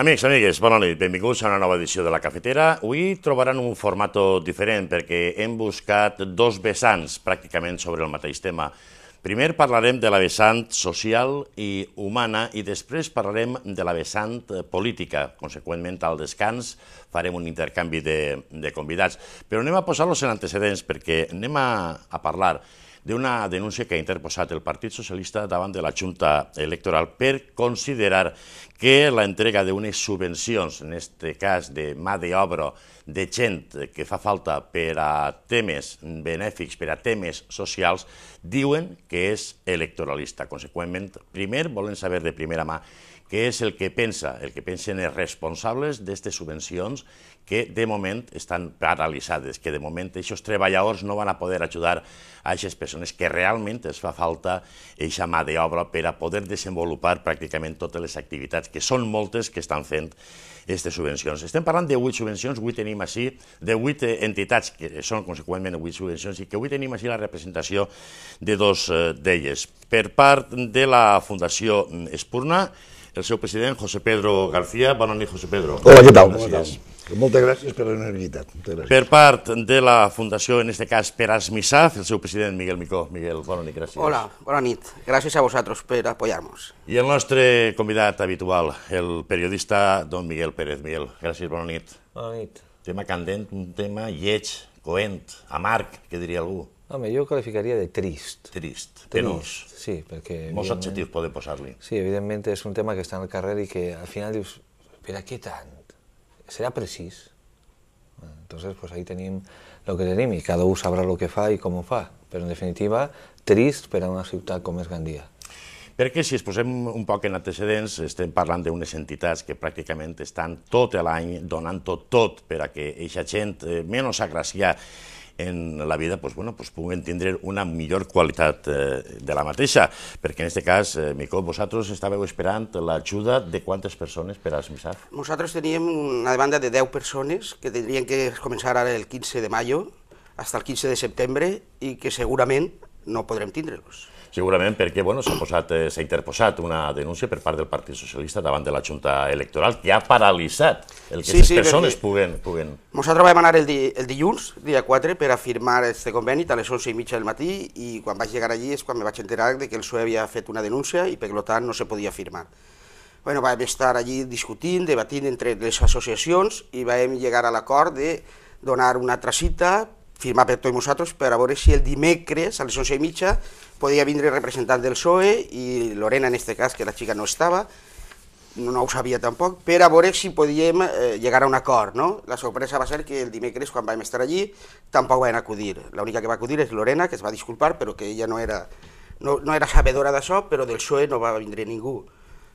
Amics, amigues, bona nit. Benvinguts a una nova edició de La Cafetera. Avui trobaran un format diferent perquè hem buscat dos vessants pràcticament sobre el mateix tema. Primer parlarem de la vessant social i humana i després parlarem de la vessant política. Conseqüentment, al descans farem un intercanvi de convidats. Però anem a posar-los en antecedents perquè anem a parlar d'una denúncia que ha interposat el Partit Socialista davant de la Junta Electoral per considerar que la entrega d'unes subvencions, en aquest cas de mà d'obra de gent que fa falta per a temes benèfics, per a temes socials, diuen que és electoralista. Conseqüentment, primer volen saber de primera mà què és el que pensen els responsables d'aquestes subvencions que de moment estan paralitzades, que de moment aquests treballadors no van a poder ajudar a aquestes persones que realment es fa falta aquesta mà d'obra per a poder desenvolupar pràcticament totes les activitats, que són moltes que estan fent aquestes subvencions. Estem parlant de 8 subvencions, avui tenim així, de 8 entitats, que són conseqüentment 8 subvencions, i que avui tenim així la representació de dos d'elles. Per part de la Fundació Espurna, el seu president, José Pedro García. Bona nit, José Pedro. Hola, què tal? Moltes gràcies per la disponibilitat. Per part de la Fundació, en aquest cas, per Asmisaf, el seu president, Miguel Micó. Miguel, bona nit, gràcies. Hola, bona nit. Gràcies a vosaltres per apoyar-nos. I el nostre convidat habitual, el periodista don Miguel Pérez. Miguel, gràcies, bona nit. Bona nit. Tema candent, un tema lleig, coent, amarg, que diria algú. Home, jo qualificaria de trist. Trist, penós. Sí, perquè... Molts adjectius podem posar-li. Sí, evidentment és un tema que està en el carrer i que al final dius, per a què tant? Serà precís? Entonces, pues ahí tenim el que tenim i cada un sabrà el que fa i com ho fa. Però, en definitiva, trist per a una ciutat com és Gandia. Perquè si es posem un poc en antecedents, estem parlant d'unes entitats que pràcticament estan tot l'any donant-ho tot per a que aquesta gent menys agraciada en la vida puguen tindre una millor qualitat de la mateixa. Perquè en aquest cas, Micó, vosaltres estàveu esperant l'ajuda de quantes persones per a Asmisaf? Nosaltres teníem una demanda de 10 persones que tindrien que començar ara el 15 de mayo fins al 15 de setembre i que segurament no podrem tindre-los. Segurament perquè s'ha interposat una denúncia per part del Partit Socialista davant de la Junta Electoral que ha paralitzat el que aquestes persones puguen... Nosaltres vam anar el dilluns, dia 4, per a firmar aquest conveni a les 11:30 del matí i quan vaig llegar allí és quan me vaig enterar que el PSOE havia fet una denúncia i per tant no se podia firmar. Vam estar allí discutint, debatint entre les associacions i vam llegar a l'acord de donar una altra cita, firmar per tots nosaltres per a veure si el dimecres a les 11:30 podia vindre representant del PSOE i Lorena, en aquest cas, que la xica no estava, no ho sabia tampoc, per a veure si podíem llegar a un acord. La sorpresa va ser que el dimecres, quan vam estar allí, tampoc van acudir. L'única que va acudir és Lorena, que es va disculpar, però que ella no era sabedora d'això, però del PSOE no va vindre ningú.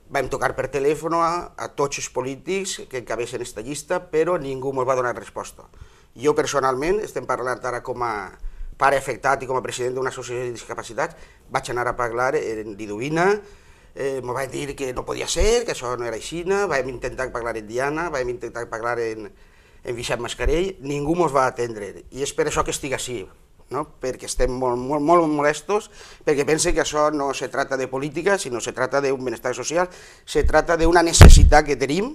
Vam tocar per telèfon a tots els polítics que encabeixen aquesta llista, però ningú ens va donar resposta. Jo personalment, estem parlant ara com a pare afectat i com a president d'una associació de discapacitats, vaig anar a parlar en Liduvina, m'ho va dir que no podia ser, que això no era així, vam intentar parlar en Diana, vam intentar parlar en Vicent Mascarell, ningú ens va atendre, i és per això que estic així, perquè estem molt molestos, perquè pense que això no se trata de política, sinó se trata d'un benestar social, se trata d'una necessitat que tenim,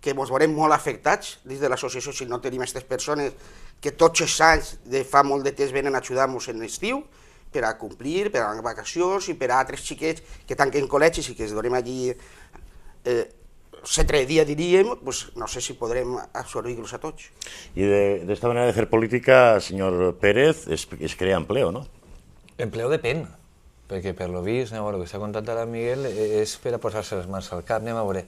que ens veurem molt afectats dins de l'associació si no tenim aquestes persones que tots els anys de fa molt de temps venen a ajudar-nos en l'estiu per a complir, per a les vacacions i per a altres xiquets que tanquen col·legis i que es donem allí 7 dies, diríem, no sé si podrem absorbir-los a tots. I d'esta manera de fer política, senyor Pérez, es crea empleo, no? Empleo depèn, perquè per lo vist, el que s'ha contat ara Miguel, és per a posar-se les mans al cap, anem a veure.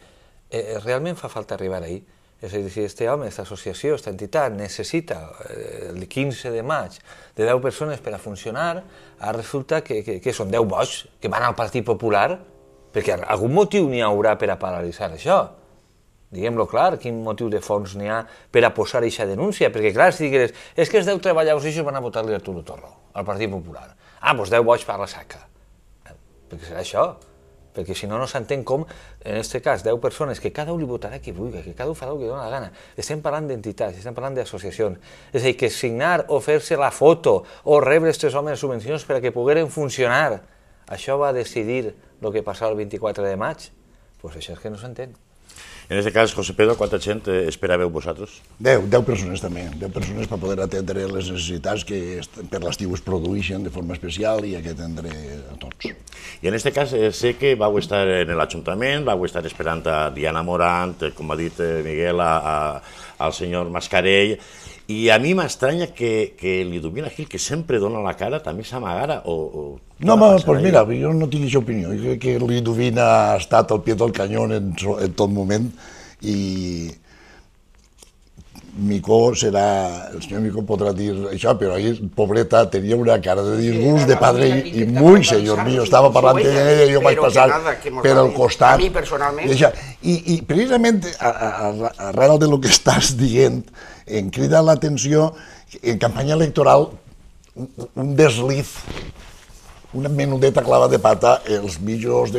Realment fa falta arribar ahí. És a dir, si aquest home, aquesta associació, aquesta entitat necessita el 15 de maig de 10 persones per a funcionar, ara resulta que són 10 boigs que van al Partit Popular, perquè algun motiu n'hi haurà per a paralitzar això. Diguem-lo clar, quin motiu de fons n'hi ha per a posar aquesta denúncia, perquè clar, si digueres, és que els 10 treballadors això van a votar-li a Arturo Torro, al Partit Popular. Doncs 10 boigs per la saca. Perquè serà això. Perquè si no, no s'entén com, en aquest cas, 10 persones, que cada un li votarà qui vulgui, que cada un farà el que dona la gana. Estem parlant d'entitats, estem parlant d'associacions. És a dir, que signar o fer-se la foto o rebre aquests homes subvencions per a que pogueren funcionar, això va decidir el que passava el 24 de maig? Doncs això és que no s'entén. En aquest cas, José Pedro, quanta gent esperàveu vosaltres? 10 persones també, 10 persones per poder atendre les necessitats que per l'estiu es produeixen de forma especial i que atendre a tots. I en aquest cas sé que vau estar en l'Ajuntament, vau estar esperant a Diana Morant, com ha dit Miguel, al senyor Mascarell, i a mi m'estranya que Liduvina Gil, que sempre dona la cara, també s'amagara o... No, doncs mira, jo no tinc aquesta opinió. Jo crec que Liduvina ha estat al pie del canyó en tot moment i Micó serà... El senyor Micó podrà dir això, però ahir, pobreta, tenia una cara de disgust de padre i muy, senyor mío, estava parlant amb ella i jo vaig passar per el costat. A mi, personalment. I precisament, arrel de lo que estàs dient, em crida l'atenció, en campanya electoral, un desliz, una menudeta clava de pata, els mitjos,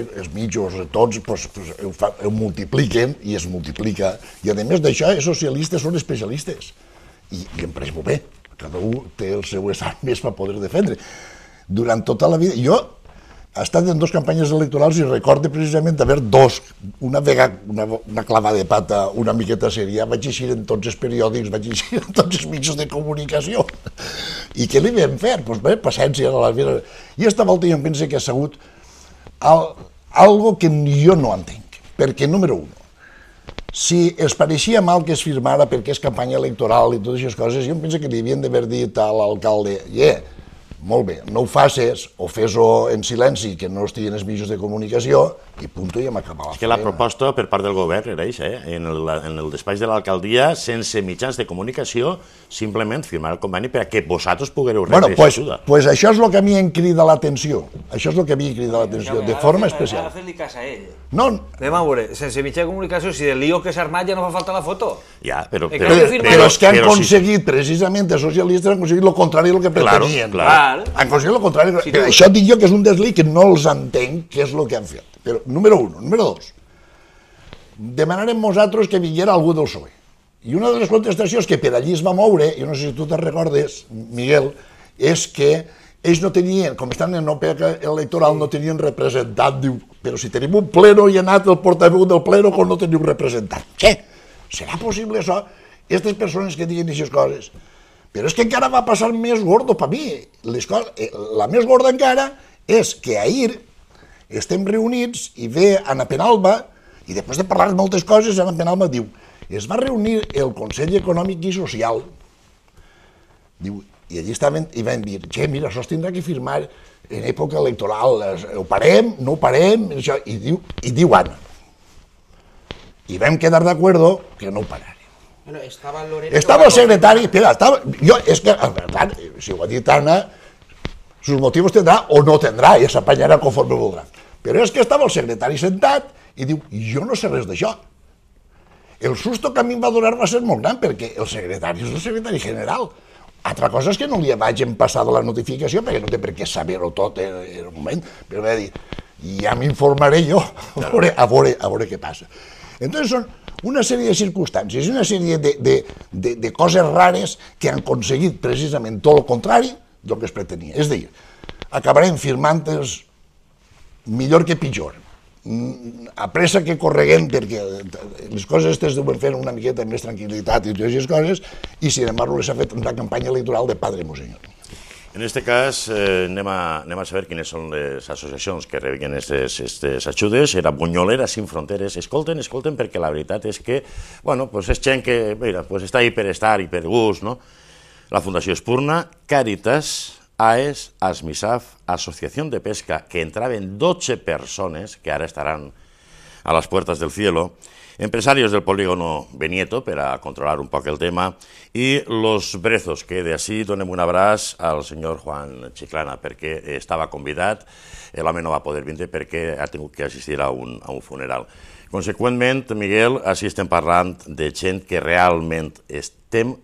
tots, ho multipliquen i es multiplica. I a més d'això, els socialistes són especialistes. I em pareix molt bé, cada un té el seu estat més per poder defendre. Durant tota la vida, jo he estat en 2 campanyes electorals i recordo precisament d'haver 2, una vegada una clava de pata una miqueta sèria, vaig eixir en tots els periòdics, vaig eixir en tots els mitjans de comunicació. I què li vam fer? Doncs bé, paciència. I aquesta volta jo em penso que ha sigut algo que jo no entenc, perquè, número 1, si es pareixia mal que es firmara perquè és campanya electoral i totes aquestes coses, jo em penso que li havien d'haver dit a l'alcalde, molt bé, no ho facis o fes-ho en silenci, que no estigui en els mitjans de comunicació, i punto, i hem acabat. És que la proposta per part del govern era això, en el despatx de l'alcaldia, sense mitjans de comunicació, simplement firmar el conveni perquè vosaltres poguereu rebre aquesta ajuda. Doncs això és el que a mi em crida l'atenció, això és el que a mi em crida l'atenció, de forma especial. Ara fes-li cas a ell. No. Anem a veure, sense mitjà de comunicació, si del lío que s'ha armat ja no fa falta la foto. Ja, però és que han aconseguit, precisament, els socialistes han aconseguit el contrari del que pretenien. Clar. Han aconseguit el contrari. Això dic jo que és un desliz que no els entenc què és el que han fet. Però, número 1. Número 2. Demanarem nosaltres que vinguera algú del PSOE. I una de les contestacions que per allí es va moure, jo no sé si tu te'n recordes, Miguel, és que ells no tenien, com estan en OPEC electoral, no tenien representant. Diu, però si tenim un pleno i ha anat el portaveu del pleno com no teniu representant. Què? Serà possible això? Aquestes persones que diguen aquestes coses. Però és que encara va passar més gordo per mi. La més gorda encara és que ahir estem reunits i ve Ana Penalba, i després de parlar de moltes coses, Ana Penalba diu, es va reunir el Consell Econòmic i Social, diu, i allí estaven i van dir, mira, això es tindrà que firmar en època electoral, ho parem, no ho parem, i diu Anna. I vam quedar d'acord que no ho pararem. Estava el secretari, espera, és que, la veritat, si ho ha dit Anna, sus motivos tendrà o no tendrà, i s'apanyarà conforme voldrà. Però és que estava el secretari sentat i diu, jo no sé res d'això. El susto que a mi em va donar va ser molt gran, perquè el secretari és el secretari general. Altra cosa és que no li vaig passar la notificació, perquè no té per què saber-ho tot en el moment, però va dir, ja m'informaré jo, a veure què passa. Entonces són una sèrie de circumstàncies, una sèrie de coses rares que han aconseguit precisament tot el contrari del que es pretenia. És a dir, acabarem firmant-los millor que pitjor, a pressa que correguem, perquè les coses aquestes deuen fer una miqueta més tranquil·litat i totes aquestes coses, i sin embargo les ha fet una campanya electoral de Padre Monseñor. En aquest cas, anem a saber quines són les associacions que rebien aquestes ajudes. Era Bunyoleras Sin Fronteres. Escolten, perquè la veritat és que, bueno, és gent que, mira, està ahí per estar i per gust, no? La Fundació Espurna, Càritas, AES, ASMISAF, Asociación de Pesca, que entraven 12 persones, que ara estaran a las puertas del cielo, empresarios del polígono Benieto, per a controlar un poc el tema, i los Brezos, que d'ací donem un abraç al senyor Juan Chiclana, perquè estava convidat, l'home no va poder vindre perquè ha tingut que assistir a un funeral. Conseqüentment, Miguel, així estem parlant de gent que realment estem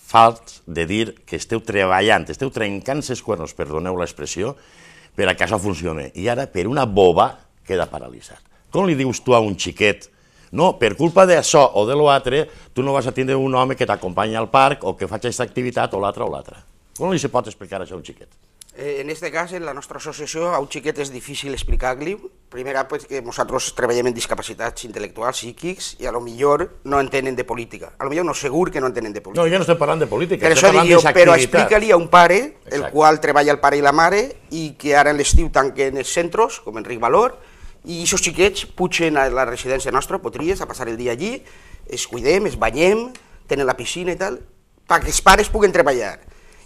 falts de dir que esteu treballant, esteu trencant ses cuernos, perdoneu l'expressió, per a que això funcioni. I ara, per una boba, queda paralitzat. Com li dius tu a un xiquet, no, per culpa d'això o de l'altre, tu no vas a tindre un home que t'acompanya al parc o que faci aquesta activitat o l'altra o l'altra. Com li se pot explicar això a un xiquet? En este cas, en la nostra associació, a un xiquet és difícil explicar-li. Primera, que nosaltres treballem en discapacitats intel·lectuals, psíquics, i a lo millor no entenen de política. A lo millor no, segur que no entenen de política. No, ja no estem parlant de política, Per estem això parlant dic jo, d'aquesta però activitat. explica-li a un pare, el Exacte. qual treballa el pare i la mare, i que ara en l'estiu tanquen els centres, com Enric Valor, i aquests xiquets pugen a la residència nostra, Potries, a passar el dia allí, es cuidem, es banyem, tenen la piscina i tal, perquè els pares puguen treballar.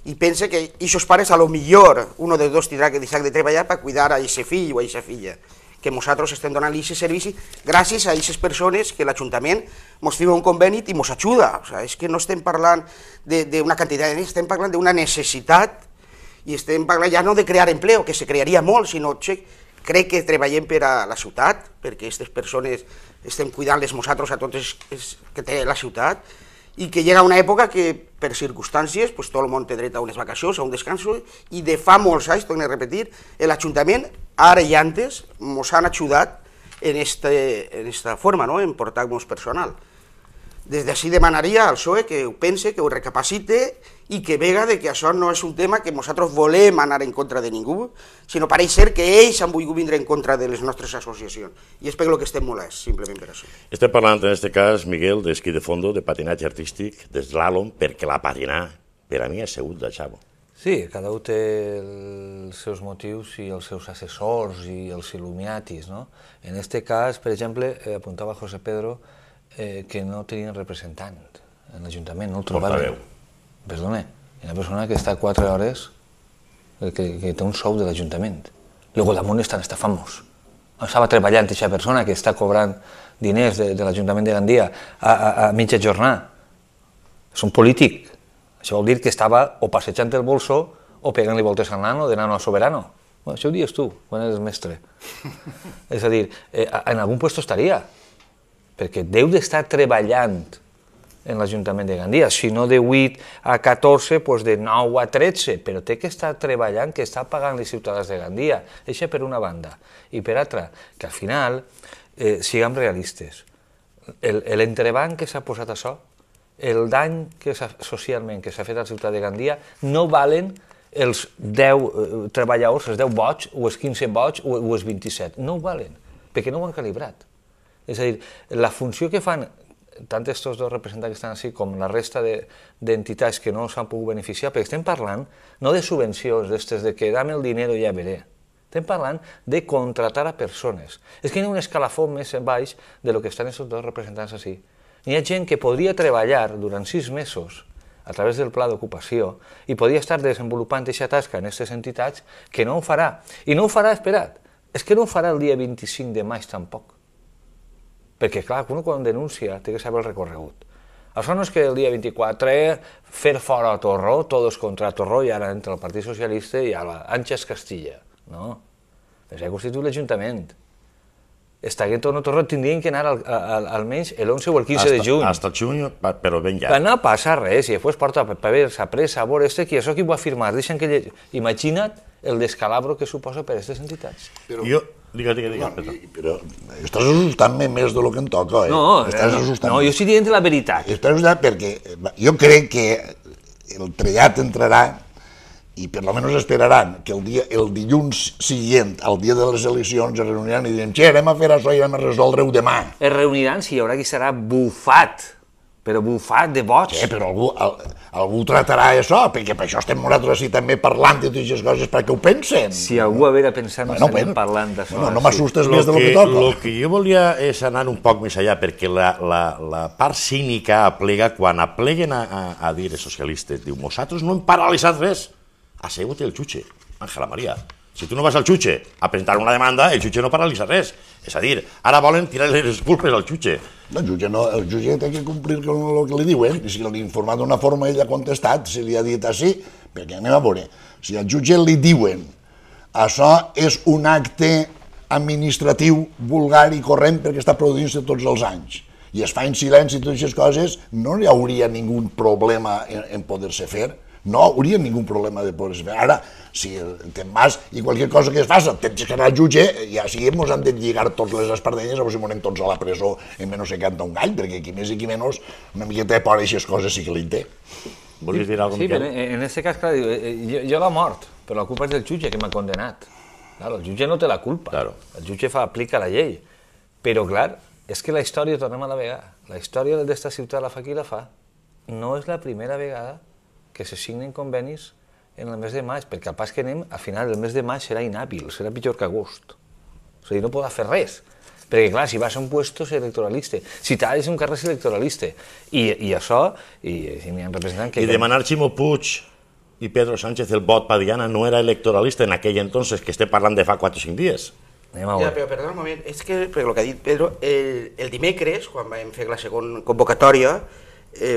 I pensa que aquests pares, a lo millor, un dels dos tindrà que deixar de treballar per cuidar a aquest fill o a aquesta filla. Que nosaltres estem donant-li aquest servici gràcies a aquestes persones que l'Ajuntament ens firma un conveni i ens ajuda. O sigui, és que no estem parlant d'una quantitat de diners, estem parlant d'una necessitat i estem parlant ja no de crear empleo, que se crearia molt, sinó crec que treballem per a la ciutat, perquè aquestes persones estem cuidant-les nosaltres a totes que té la ciutat, i que llega una època que, per circumstàncies, tot el món té dret a unes vacacions, a un descanso, i de fa molts anys, torno a repetir, l'Ajuntament, ara i antes, ens han ajudat en esta forma, en portar-nos personal. Des d'ací demanaria al PSOE que ho pense, que ho recapacite i que vega que això no és un tema que nosaltres volem anar en contra de ningú, sinó pareix ser que ells han volgut vindre en contra de les nostres associacions. I és per el que estem molts, simplement per això. Estem parlant en aquest cas, Miguel, d'esquí de fondo, de patinatge artístic, d'eslàlom, perquè la patinar, per a mi, ha sigut de xavo. Sí, cada un té els seus motius i els seus assessors i els il·luminatis, no? En aquest cas, per exemple, apuntava José Pedro que no tenien representant en l'Ajuntament, no el trobaven. Perdona, hi ha una persona que està 4 hores, que té un sou de l'Ajuntament. Luego damunt estan estafant-nos. Estava treballant aquesta persona que està cobrant diners de l'Ajuntament de Gandia a mitja jornada. És un polític. Això vol dir que estava o passejant el bolso o pegant-li voltes al nano, de nano a soberano. Això ho dius tu, quan eres mestre. És a dir, en algun lloc estaria, perquè deu d'estar treballant en l'Ajuntament de Gandia, si no de 8 a 14, doncs de 9 a 13, però té que estar treballant, que està pagant els ciutadans de Gandia. Això per una banda. I per altra, que al final siguem realistes. L'entrebanc que s'ha posat això, el dany socialment que s'ha fet al ciutat de Gandia, no valen els 10 treballadors, els 10 boig, o els 15 boig, o els 27. No ho valen, perquè no ho han calibrat. És a dir, la funció que fan tant estos dos representants que estan així com la resta d'entitats que no s'han pogut beneficiar, perquè estem parlant no de subvencions, d'estes de que dame el dinero i ja veré. Estem parlant de contratar a persones. És que hi ha un escalafó més baix de lo que estan aquests dos representants així. Hi ha gent que podria treballar durant 6 mesos a través del pla d'ocupació i podria estar desenvolupant aquesta tasca en aquestes entitats que no ho farà. I no ho farà, espera't, és que no ho farà el dia 25 de maig tampoc. Perquè, clar, quan denuncia té que saber el recorregut. Això no és que el dia 24 fer fora a Torró, tots contra Torró, i ara entra el Partit Socialista i ara Àngels Castilla. No, s'ha constituït l'Ajuntament. Estaguet o no Torró tindrien que anar almenys l'11 o el 15 de juny. Hasta el juny, però ben ja. No passa res, i després porta papers a pressa, a veure, que això qui ho va firmar? Imagina't el descalabro que suposa per a aquestes entitats. Digue'm, però estàs assustant-me més del que em toca, eh? No, jo estic dient la veritat. Estàs assustant perquè jo crec que el trellat entrarà i per almenys esperaran que el dilluns següent, al dia de les eleccions, es reuniran i diran anem a fer això i anem a resoldre-ho demà. Es reuniran si hi haurà qui serà bufat, però bufat de boig. Sí, però algú tratarà això, perquè per això estem nosaltres així també parlant de totes aquestes coses perquè ho pensen. Si algú haver de pensar no estarem parlant d'això. No m'assustes més del que toca. El que jo volia és anar un poc més allà, perquè la part cínica aplega, quan apleguen a dir els socialistes, diu, nosaltres no hem paralitzat res. Ha sigut el jutge, Ángela María. Si tu no vas al jutge a presentar una demanda, el jutge no paralitza res. És a dir, ara volen tirar les culpes al jutge. El jutge té que complir amb el que li diuen, i si l'ha informat d'una forma ell ha contestat, si li ha dit així, perquè anem a veure, si al jutge li diuen això és un acte administratiu vulgar i corrent perquè està produint-se tots els anys, i es fa en silenci i totes aquestes coses, no hi hauria ningú problema en poder-se fer. No hauria ningú problema de poder-se fer. Ara, si te'n vas i qualsevol cosa que es faci, tens que anar al jutge i així ens han de lligar tots les espardenyes o si monem tots a la presó en menys de canta un gall, perquè qui més i qui menys una miqueta de por a aquestes coses sí que li té. Volies dir alguna cosa, Sí, Miquel? en aquest cas, clar, jo la mort, però la culpa és del jutge que m'ha condenat. Claro, el jutge no té la culpa, el jutge aplica la llei. Però, clar, és que la història, tornem a navegar, la història d'esta ciutat la fa qui la fa. No és la primera vegada que se signen convenis en el mes de maig, perquè al pas que anem, a final del mes de maig serà inhàbil, serà pitjor que agost. O sigui, no podrà fer res. Perquè, clar, si vas a un puesto és electoralista, si t'has un carrer és electoralista. I això, i n'hi ha representant que... I demanar Ximo Puig i Pedro Sánchez el vot per Diana no era electoralista en aquell entonces, que estem parlant de fa 4 o 5 dies. Ja, però perdona un moment, és que, per el que ha dit Pedro, el dimecres, quan vam fer la segona convocatòria,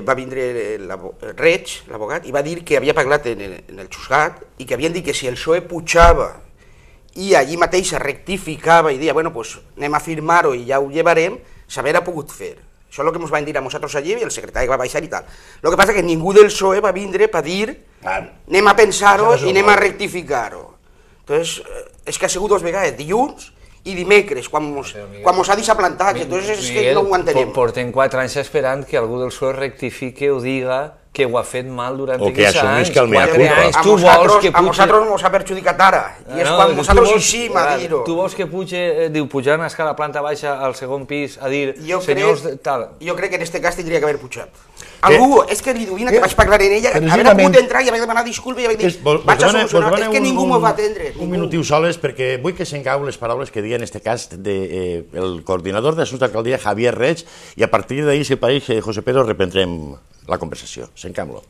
va vindre el Reig, l'abogat, i va dir que havia parlat en el Xusgat i que havien dit que si el PSOE pujava i allí mateix rectificava i deia, bueno, pues anem a firmar-ho i ja ho llevarem, s'haver pogut fer. Això és el que ens van dir a nosaltres allí i el secretari va baixar i tal. El que passa és que ningú del PSOE va vindre per dir anem a pensar-ho i anem a rectificar-ho. Entonces, és que ha sigut 2 vegades, dilluns i dimecres, quan mos ha deixat plantats, entonces és que no ho entenem. Portem 4 anys esperant que algú del PSOE rectifique o diga que ho ha fet mal durant aquests anys. O que assumís que el mea culpa. A nosaltres mos ha perjudicat ara, i és quan nosaltres eixim a dir-ho. Tu vols que pujar a escala planta baixa al segon pis a dir senyors tal? Jo crec que en aquest cas tindria que haver pujat. Algú, és que Liduvina, que vaig parlar en ella, haver pogut entrar i haver demanat disculpa i haver dit vaig a solucionar, és que ningú m'ho va atendre. Un minutiu soles, perquè vull que s'encau les paraules que deia en aquest cas el coordinador d'Assumptes d'Alcaldia, Javier Reig, i a partir d'ahir, si pareix, José Pedro, reprendrem la conversació. S'encam-lo.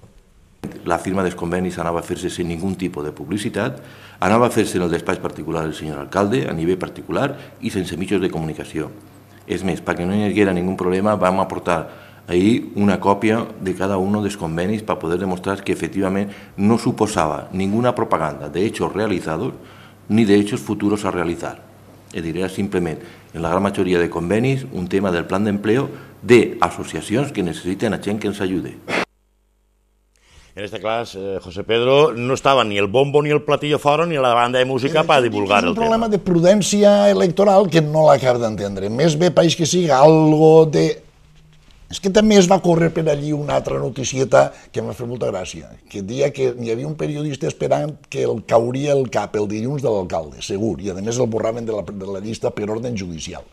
La firma dels convenis anava a fer-se sense ningú tipus de publicitat, anava a fer-se en el despatx particular del senyor alcalde, a nivell particular i sense mitjans de comunicació. És més, perquè no hi haguera ningú problema, vam aportar ahir una còpia de cada un dels convenis per poder demostrar que efectivament no suposava ninguna propaganda de hechos realizados ni de hechos futuros a realizar. Es dir, era simplement, en la gran majoria de convenis, un tema del plan d'empleo d'associacions que necessiten a gent que ens ajude. En este cas, José Pedro, no estava ni el bombo ni el platillo fora ni la banda de música per divulgar el tema. És un problema de prudència electoral que no l'acabo d'entendre. Més bé país que siga algo de... És que també es va córrer per allí una altra noticieta que m'ha fet molta gràcia, que deia que hi havia un periodista esperant que el cauria el cap el dilluns de l'alcalde, segur, i a més el borraven de la llista per ordre judicial.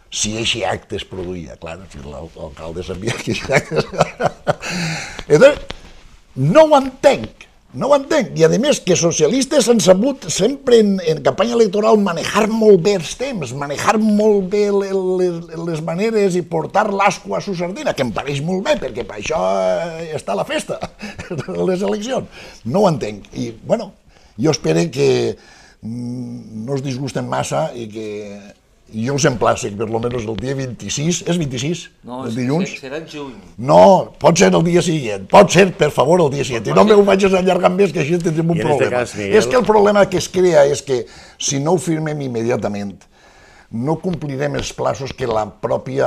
Si eixe acte es produïa, clar, si l'alcalde sabia que eixe acte es... No ho entenc, i a més que socialistes han sabut sempre en campanya electoral manejar molt bé els temps, manejar molt bé les maneres i portar l'asco a su sardina, que em pareix molt bé, perquè per això està la festa, les eleccions. No ho entenc. I, bueno, jo espero que no es disgusten massa i que... Jo us emplaço que per almenys el dia 26, és 26? No, el dilluns? Serà juny. No, pot ser el dia següent, pot ser, per favor, el dia següent. I no m'ho vaig allargar més, que així tindrem un problema. És que el problema que es crea és que si no ho firmem immediatament, no complirem els plaços que la pròpia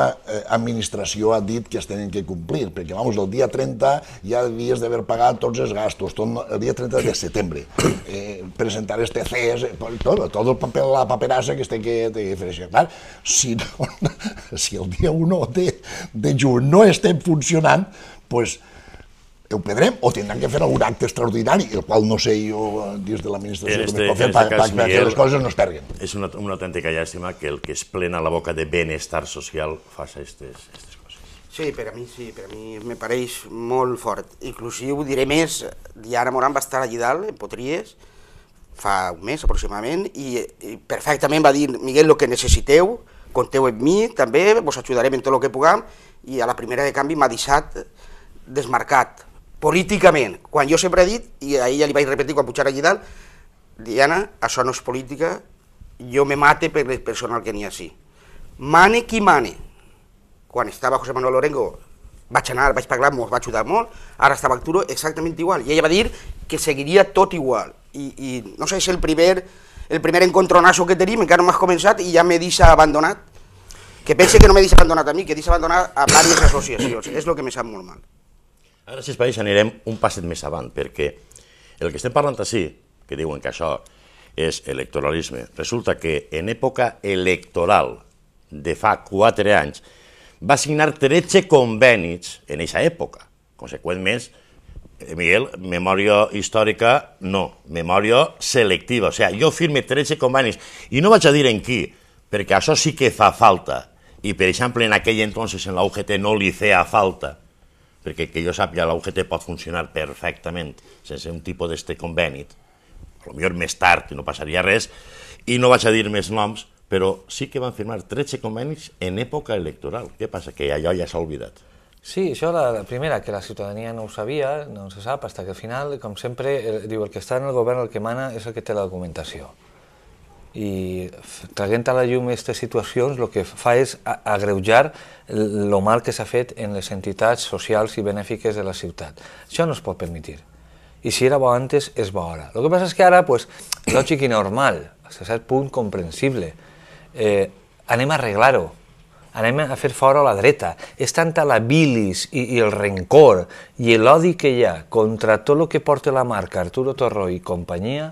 administració ha dit que es tenen que complir, perquè, vamos, el dia 30 ja havies d'haver pagat tots els gastos, el dia 30 de setembre, presentar els TCs, tot el paper, la paperassa que es té que fer això. Clar, si el dia 1 de juny no estem funcionant, doncs ho perdrem o tindran que fer algun acte extraordinari, el qual no sé jo dins de l'administració com es pot fer perquè les coses no es perguen. És una autèntica llàstima que el que es plena la boca de benestar social faci aquestes coses. Sí, per a mi me pareix molt fort. Inclusiu, diré més, Diana Morant va estar allà dalt, en Potries, fa un mes aproximadament, i perfectament va dir, Miguel, el que necessiteu, compteu amb mi, també, vos ajudarem en tot el que puguem, i a la primera de canvi m'ha deixat desmarcat. Políticament, quan jo sempre he dit, i a ella li vaig repetir quan pujar allà dalt, Diana, això no és política, jo me mate per el personal que n'hi ha així. Mane qui mane. Quan estava José Manuel Lorengo vaig anar, vaig parlar, m'ho va ajudar molt, ara estava Arturo exactament igual, i ella va dir que seguiria tot igual. I no sé, és el primer encontronazo que tenim, encara no m'has començat i ja me deixa abandonat. Que pense que no me deixa abandonat a mi, que deixa abandonat a diverses associacions, és el que me sap molt mal. Ara, si es pareix, anirem un passet més avant, perquè el que estem parlant així, que diuen que això és electoralisme, resulta que en època electoral de fa 4 anys va signar 13 convenis en aquesta època. Conseqüentment, Miguel, memòria històrica no, memòria selectiva. O sigui, jo firme 13 convenis i no vaig a dir en qui, perquè això sí que fa falta. I, per exemple, en aquell entonces en la UGT no li feia falta, perquè que jo sàpiga la UGT pot funcionar perfectament sense un tipus d'este conveni. Potser més tard no passaria res, i no vaig a dir més noms, però sí que van firmar 13 convenis en època electoral. Què passa? Que allò ja s'ha oblidat. Sí, això la primera, que la ciutadania no ho sabia, no se sap, fins que al final, com sempre, diu el que està en el govern, el que mana, és el que té la documentació. I traient a la llum aquestes situacions, el que fa és agreujar el mal que s'ha fet en les entitats socials i benèfiques de la ciutat. Això no es pot permetre. I si era bo antes, és bo ara. El que passa és que ara, lògic i normal, a cert punt comprensible, anem a arreglar-ho. Anem a fer fora la dreta. És tanta la bilis i el rencor i l'odi que hi ha contra tot el que porta la marca Arturo Torró i companyia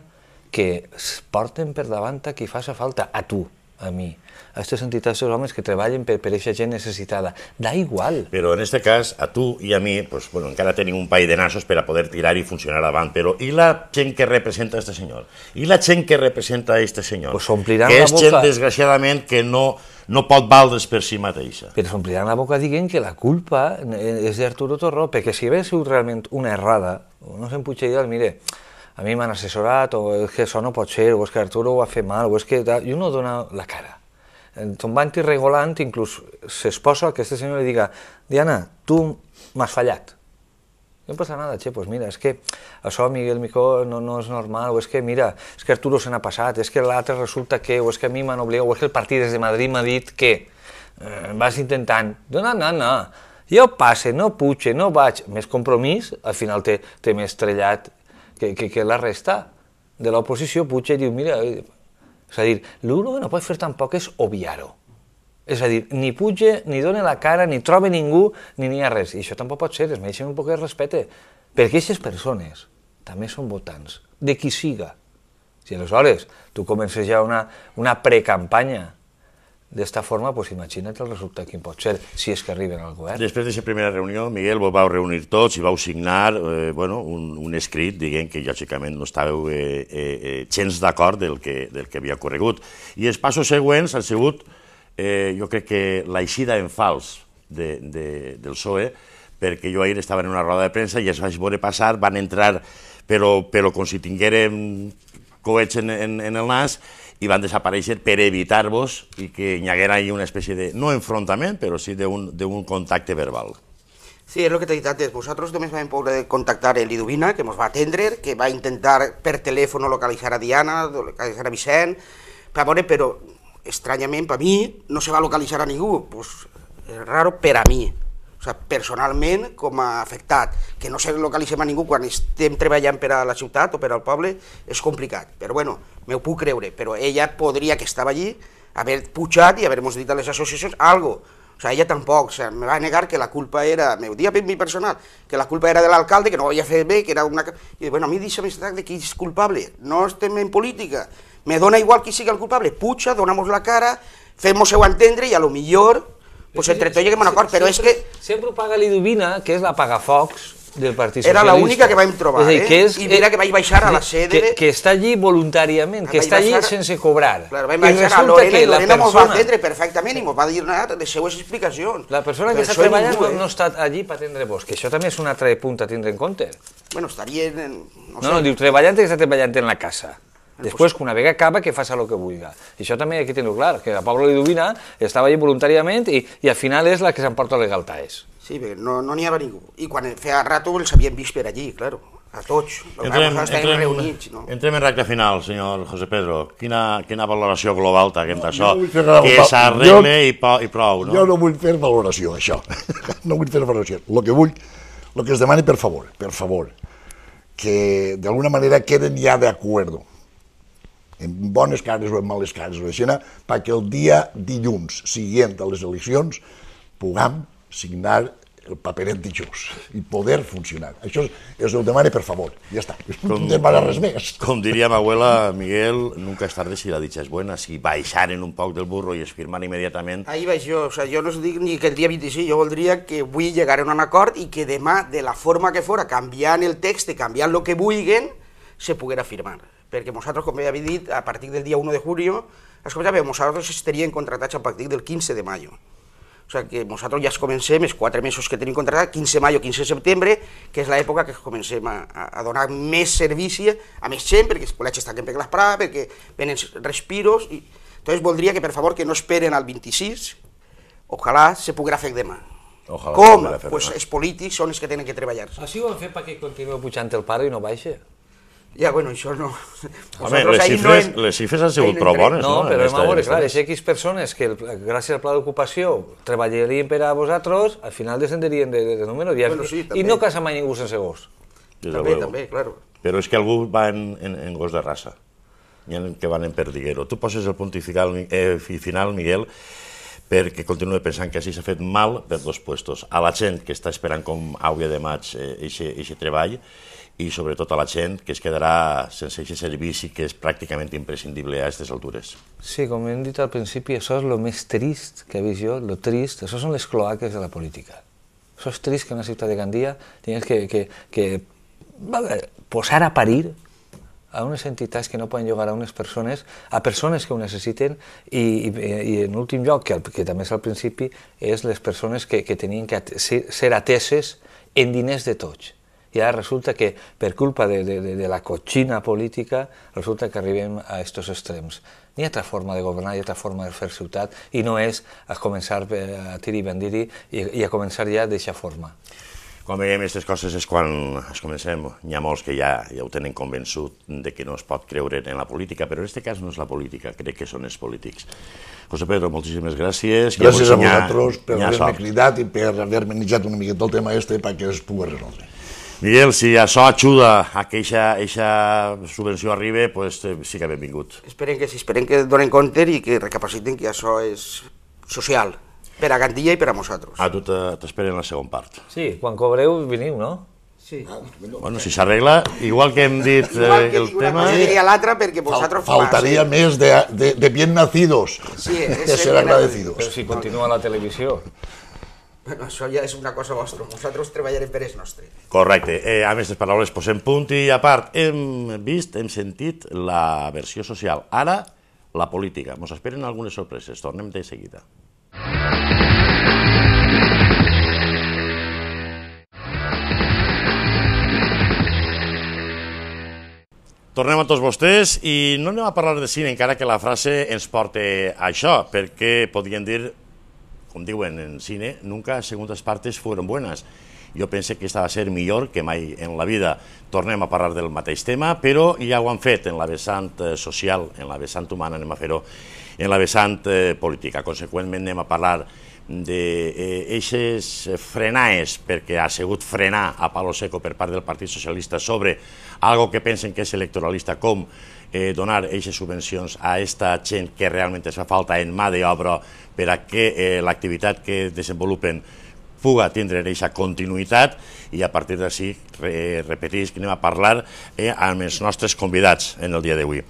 que es porten per davant a qui faci falta, a tu, a mi, a aquestes entitats dels homes que treballen per aquesta gent necessitada. Da igual. Però en aquest cas, a tu i a mi, encara tenim un país de nassos per a poder tirar i funcionar davant, però i la gent que representa aquest senyor? I la gent que representa aquest senyor? Que és gent, desgraciadament, que no pot valdre's per si mateixa. Però s'ompliran la boca dient que la culpa és d'Arturo Torró, perquè si hagués sigut realment una errada, no se'n puig dir, mire, a mi m'han assessorat, o és que això no pot ser, o és que Arturo ho ha fet mal, o és que... I uno dona la cara. Tombant i regolant, inclús s'esposa que este senyor li diga Diana, tu m'has fallat. No passa nada, che, pues mira, és que això, Miguel Micó, no és normal, o és que, mira, és que Arturo se n'ha passat, és que l'altre resulta que, o és que a mi m'han obligat, o és que el partit des de Madrid m'ha dit que vas intentant. No, jo passe, no puige, no vaig. Més compromís, al final té més trellat que la resta de l'oposició. Puig i diu, mira, és a dir, l'únic que no pot fer tampoc és obviar-ho. És a dir, ni puja, ni dona la cara, ni troba ningú, ni n'hi ha res. I això tampoc pot ser, es mereixen un poc de respecte. Perquè aquestes persones també són votants, de qui siga. Si aleshores tu comences ja una precampanya d'esta forma, doncs imagina't el resultat quin pot ser, si és que arriben al govern. Després d'aquesta primera reunió, Miguel, vos vau reunir tots i vau signar un escrit dient que lògicament no estàveu gens d'acord del que havia corregut. I els passos següents han sigut, jo crec que l'eixida en fals del PSOE, perquè jo ahir estava en una roda de premsa i els vaig veure passar, van entrar, però com si tinguérem coets en el nas, i van desaparèixer per evitar-vos i que hi haguera una espècie de, no enfrontament, però sí d'un contacte verbal. Sí, és el que t'he dit antes. Vosaltres només vam poder contactar el Liduvina, que ens va atendre, que va intentar per telèfon localitzar a Diana, localitzar a Vicent, però estranyament per mi no se va localitzar a ningú. És raro per a mi. O sigui, personalment, com a afectat, que no se localitzem a ningú quan estem treballant per a la ciutat o per al poble, és complicat. Però bueno, m'ho puc creure, però ella podria, que estava allí, haver pujat i haver-nos dit a les associacions algo. O sigui, ella tampoc, me va negar que la culpa era, m'ho dia per mi personal, que la culpa era de l'alcalde, que no ho havia fet bé, que era una... I bueno, a mi deixa'm estar de qui és culpable, no estem en política, me dona igual qui sigui el culpable, puja, donamos la cara, fem-nos-ho entendre i a lo millor... Pues entre tot lleguem a un acord, però és que... Sempre ho paga Liduvina, que és la pagafocs del Partit Socialista. Era l'única que vam trobar, i mira que vaig baixar a la sede... Que està allí voluntàriament, que està allí sense cobrar. Claro, vam baixar a Lorena i Lorena ens va atendre perfectament i ens va dir les seues explicacions. La persona que està treballant no està allí per atendre-vos, que això també és un altre punt a tindre en compte. Bueno, estaria... No, diu treballant que està treballant en la casa. Després, que una vegada acaba, que faci el que vulgui. I això també hay que tenir-ho clar, que la Paula Liduvina estava allí voluntàriament i al final és la que s'emporta les galtaes. Sí, perquè no n'hi havia ningú. I quan feia rato els havien vist per allí, claro, a tots. Entrem en recta final, senyor José Pedro. Quina valoració global t'haguem d'això? Que s'arregle i prou, no? Jo no vull fer valoració, això. No vull fer valoració. El que es demani, per favor, que d'alguna manera queden ja d'acuerdo, en bones cares o en males cares, perquè el dia dilluns següent a les eleccions puguem signar el paperet dijous i poder funcionar. Això es ho demane per favor, ja està, no demana res més. Com diria ma abuela, Miguel, nunca es tarde si la dicha es buena, si baixaren un poc del burro i es firmar immediatament... Ahí vaig jo, o sea, jo no us dic ni que el dia 26, jo voldria que avui llegaren a un acord i que demà, de la forma que fora, canviant el text, canviant el que vulguen, se poguera firmar. Perquè nosaltres, com ja havia dit, a partir del dia 1 de julio, nosaltres estaríem contratats a partir del 15 de mayo. O sigui que nosaltres ja comencem, els 4 mesos que tenim contratat, 15 de maio, 15 de setembre, que és l'època que comencem a donar més servici a més gent, perquè els col·legis tanquen per l'esprada, perquè venen respiros. Entonces voldria que, per favor, que no esperen al 26, ojalà se poguera fer demà. Com? Pues els polítics són els que tenen que treballar. Així ho han fet perquè continuï pujant el pare i no baixa? Ja, bueno, això no... Home, les xifres han sigut prou bones, no? No, però a veure, clar, és X persones que gràcies al pla d'ocupació treballarien per a vosaltres, al final descenderien de número i no casa mai ningú sense gos. També, claro. Però és que algú va en gos de raça, que van en perdiguero. Tu poses el punt i final, Miguel, perquè continuo pensant que així s'ha fet mal per dos puestos. A la gent que està esperant com hauria de maig aquest treball, i sobretot a la gent que es quedarà sense aquest servici que és pràcticament imprescindible a aquestes altures. Sí, com hem dit al principi, això és el més trist que he vist jo, el trist, això són les cloaques de la política. Això és trist que en una ciutat de Gandia tinguis que posar a parir a unes entitats que no poden llogar a unes persones, a persones que ho necessiten, i en últim lloc, que també és al principi, és les persones que tenien que ser ateses en diners de tots. I ara resulta que, per culpa de la cotxina política, resulta que arribem a aquests extrems. N'hi ha altra forma de governar, hi ha altra forma de fer ciutat, i no és a començar a tiri i bandir i a començar ja d'aquesta forma. Quan veiem aquestes coses és quan es comencem. N'hi ha molts que ja ho tenen convençut de que no es pot creure en la política, però en aquest cas no és la política, crec que són els polítics. José Pedro, moltíssimes gràcies. Gràcies a vosaltres per haver-me cridat i per haver-me iniciat una miqueta el tema perquè es pugui resoldre. Miguel, si això ajuda a que aquesta subvenció arribi, doncs sí que benvingut. Esperem que donen compte i que recapaciten que això és social, per a Gandia i per a nosaltres. A tu t'esperen la segona part. Sí, quan cobreu veniu, no? Sí. Bueno, si s'arregla, igual que hem dit el tema... Jo diria l'altra perquè vosaltres... Faltaria més de bien nacidos, de ser agradecidos. Però si continua la televisió... Bueno, això ja és una cosa vostra, nosaltres treballarem per el nostre. Correcte. A més, les paraules posem punt i a part. Hem sentit la versió social. Ara, la política. Ens esperen algunes sorpreses. Tornem de seguida. Tornem a tots vostès i no anem a parlar de cine, encara que la frase ens porta a això, perquè podríem dir... Com diuen en cine, nunca segundas partes fueron buenas. Jo pense que aquesta va ser millor que mai en la vida. Tornem a parlar del mateix tema, però ja ho han fet en la vessant social, en la vessant humana, anem a fer-ho en la vessant política. Conseqüentment anem a parlar d'eixes frenaes, perquè ha sigut frenar a palo seco per part del Partit Socialista sobre algo que pensen que és electoralista, com donar aquestes subvencions a aquesta gent que realment es fa falta en mà d'obra per a que l'activitat que desenvolupen puga tindre aquesta continuïtat, i a partir d'ací, repetís, que anem a parlar amb els nostres convidats en el dia d'avui.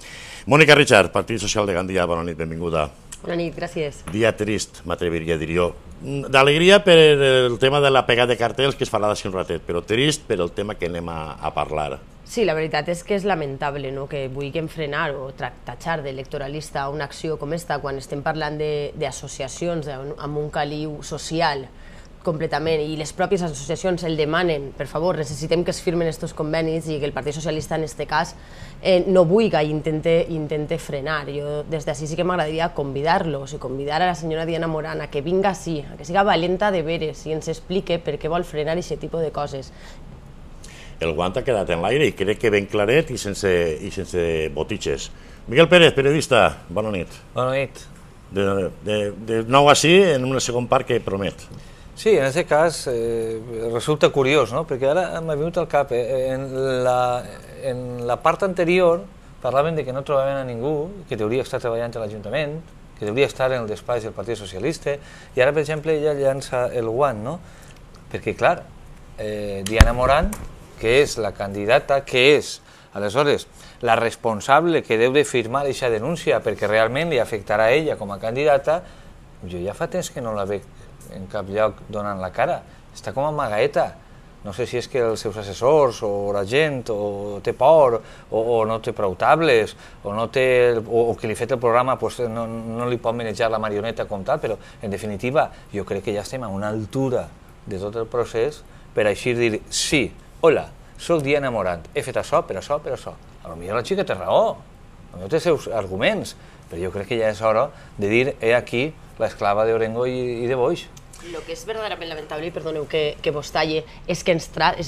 Mònica Richard, Partit Social de Gandia, bona nit, benvinguda. Bona nit, gràcies. Dia trist, m'atreviria a dir jo. D'alegria per el tema de la pegada de cartells que es farà d'ací un ratet, però trist per el tema que anem a parlar. Sí, la veritat és que és lamentable que vulguem frenar o tatxar d'electoralista una acció com esta quan estem parlant d'associacions amb un caliu social completament, i les pròpies associacions el demanen. Per favor, necessitem que es firmen aquests convenis i que el Partit Socialista en aquest cas no vulgui i intente frenar. Jo des d'ací sí que m'agradaria convidar-los i convidar a la senyora Diana Morán a que vinga així, a que siga valenta de veres i ens explique per què vol frenar aquest tipus de coses. El guant ha quedat en l'aire i crec que ben claret i sense botitxes. Miguel Pérez, periodista, bona nit. Bona nit. De nou així, en una segona part que promet. Sí, en aquest cas resulta curiós, no? Perquè ara m'ha vingut al cap. En la part anterior parlaven de que no trobaven a ningú que hauria estat treballant a l'Ajuntament, que hauria estar en el despatx del Partit Socialista, i ara, per exemple, ella llança el guant, no? Perquè, clar, Diana Morant, que és la candidata, que és, aleshores, la responsable que deu de firmar aquesta denúncia perquè realment li afectarà a ella com a candidata, jo ja fa temps que no la veig en cap lloc donant la cara. Està com a amagaeta. No sé si és que els seus assessors o la gent o té por o no té prou tables o que li ha fet el programa no li pot manejar la marioneta com tal, però en definitiva jo crec que ja estem a una altura de tot el procés per així dir sí, hola, soc Diana Morant, he fet això per això, per això. Potser la xica té raó, potser té seus arguments, però jo crec que ja és hora de dir he aquí l'esclava d'Orengo i de Boix. El que és verdaderament lamentable, i perdoneu que vos talle, és que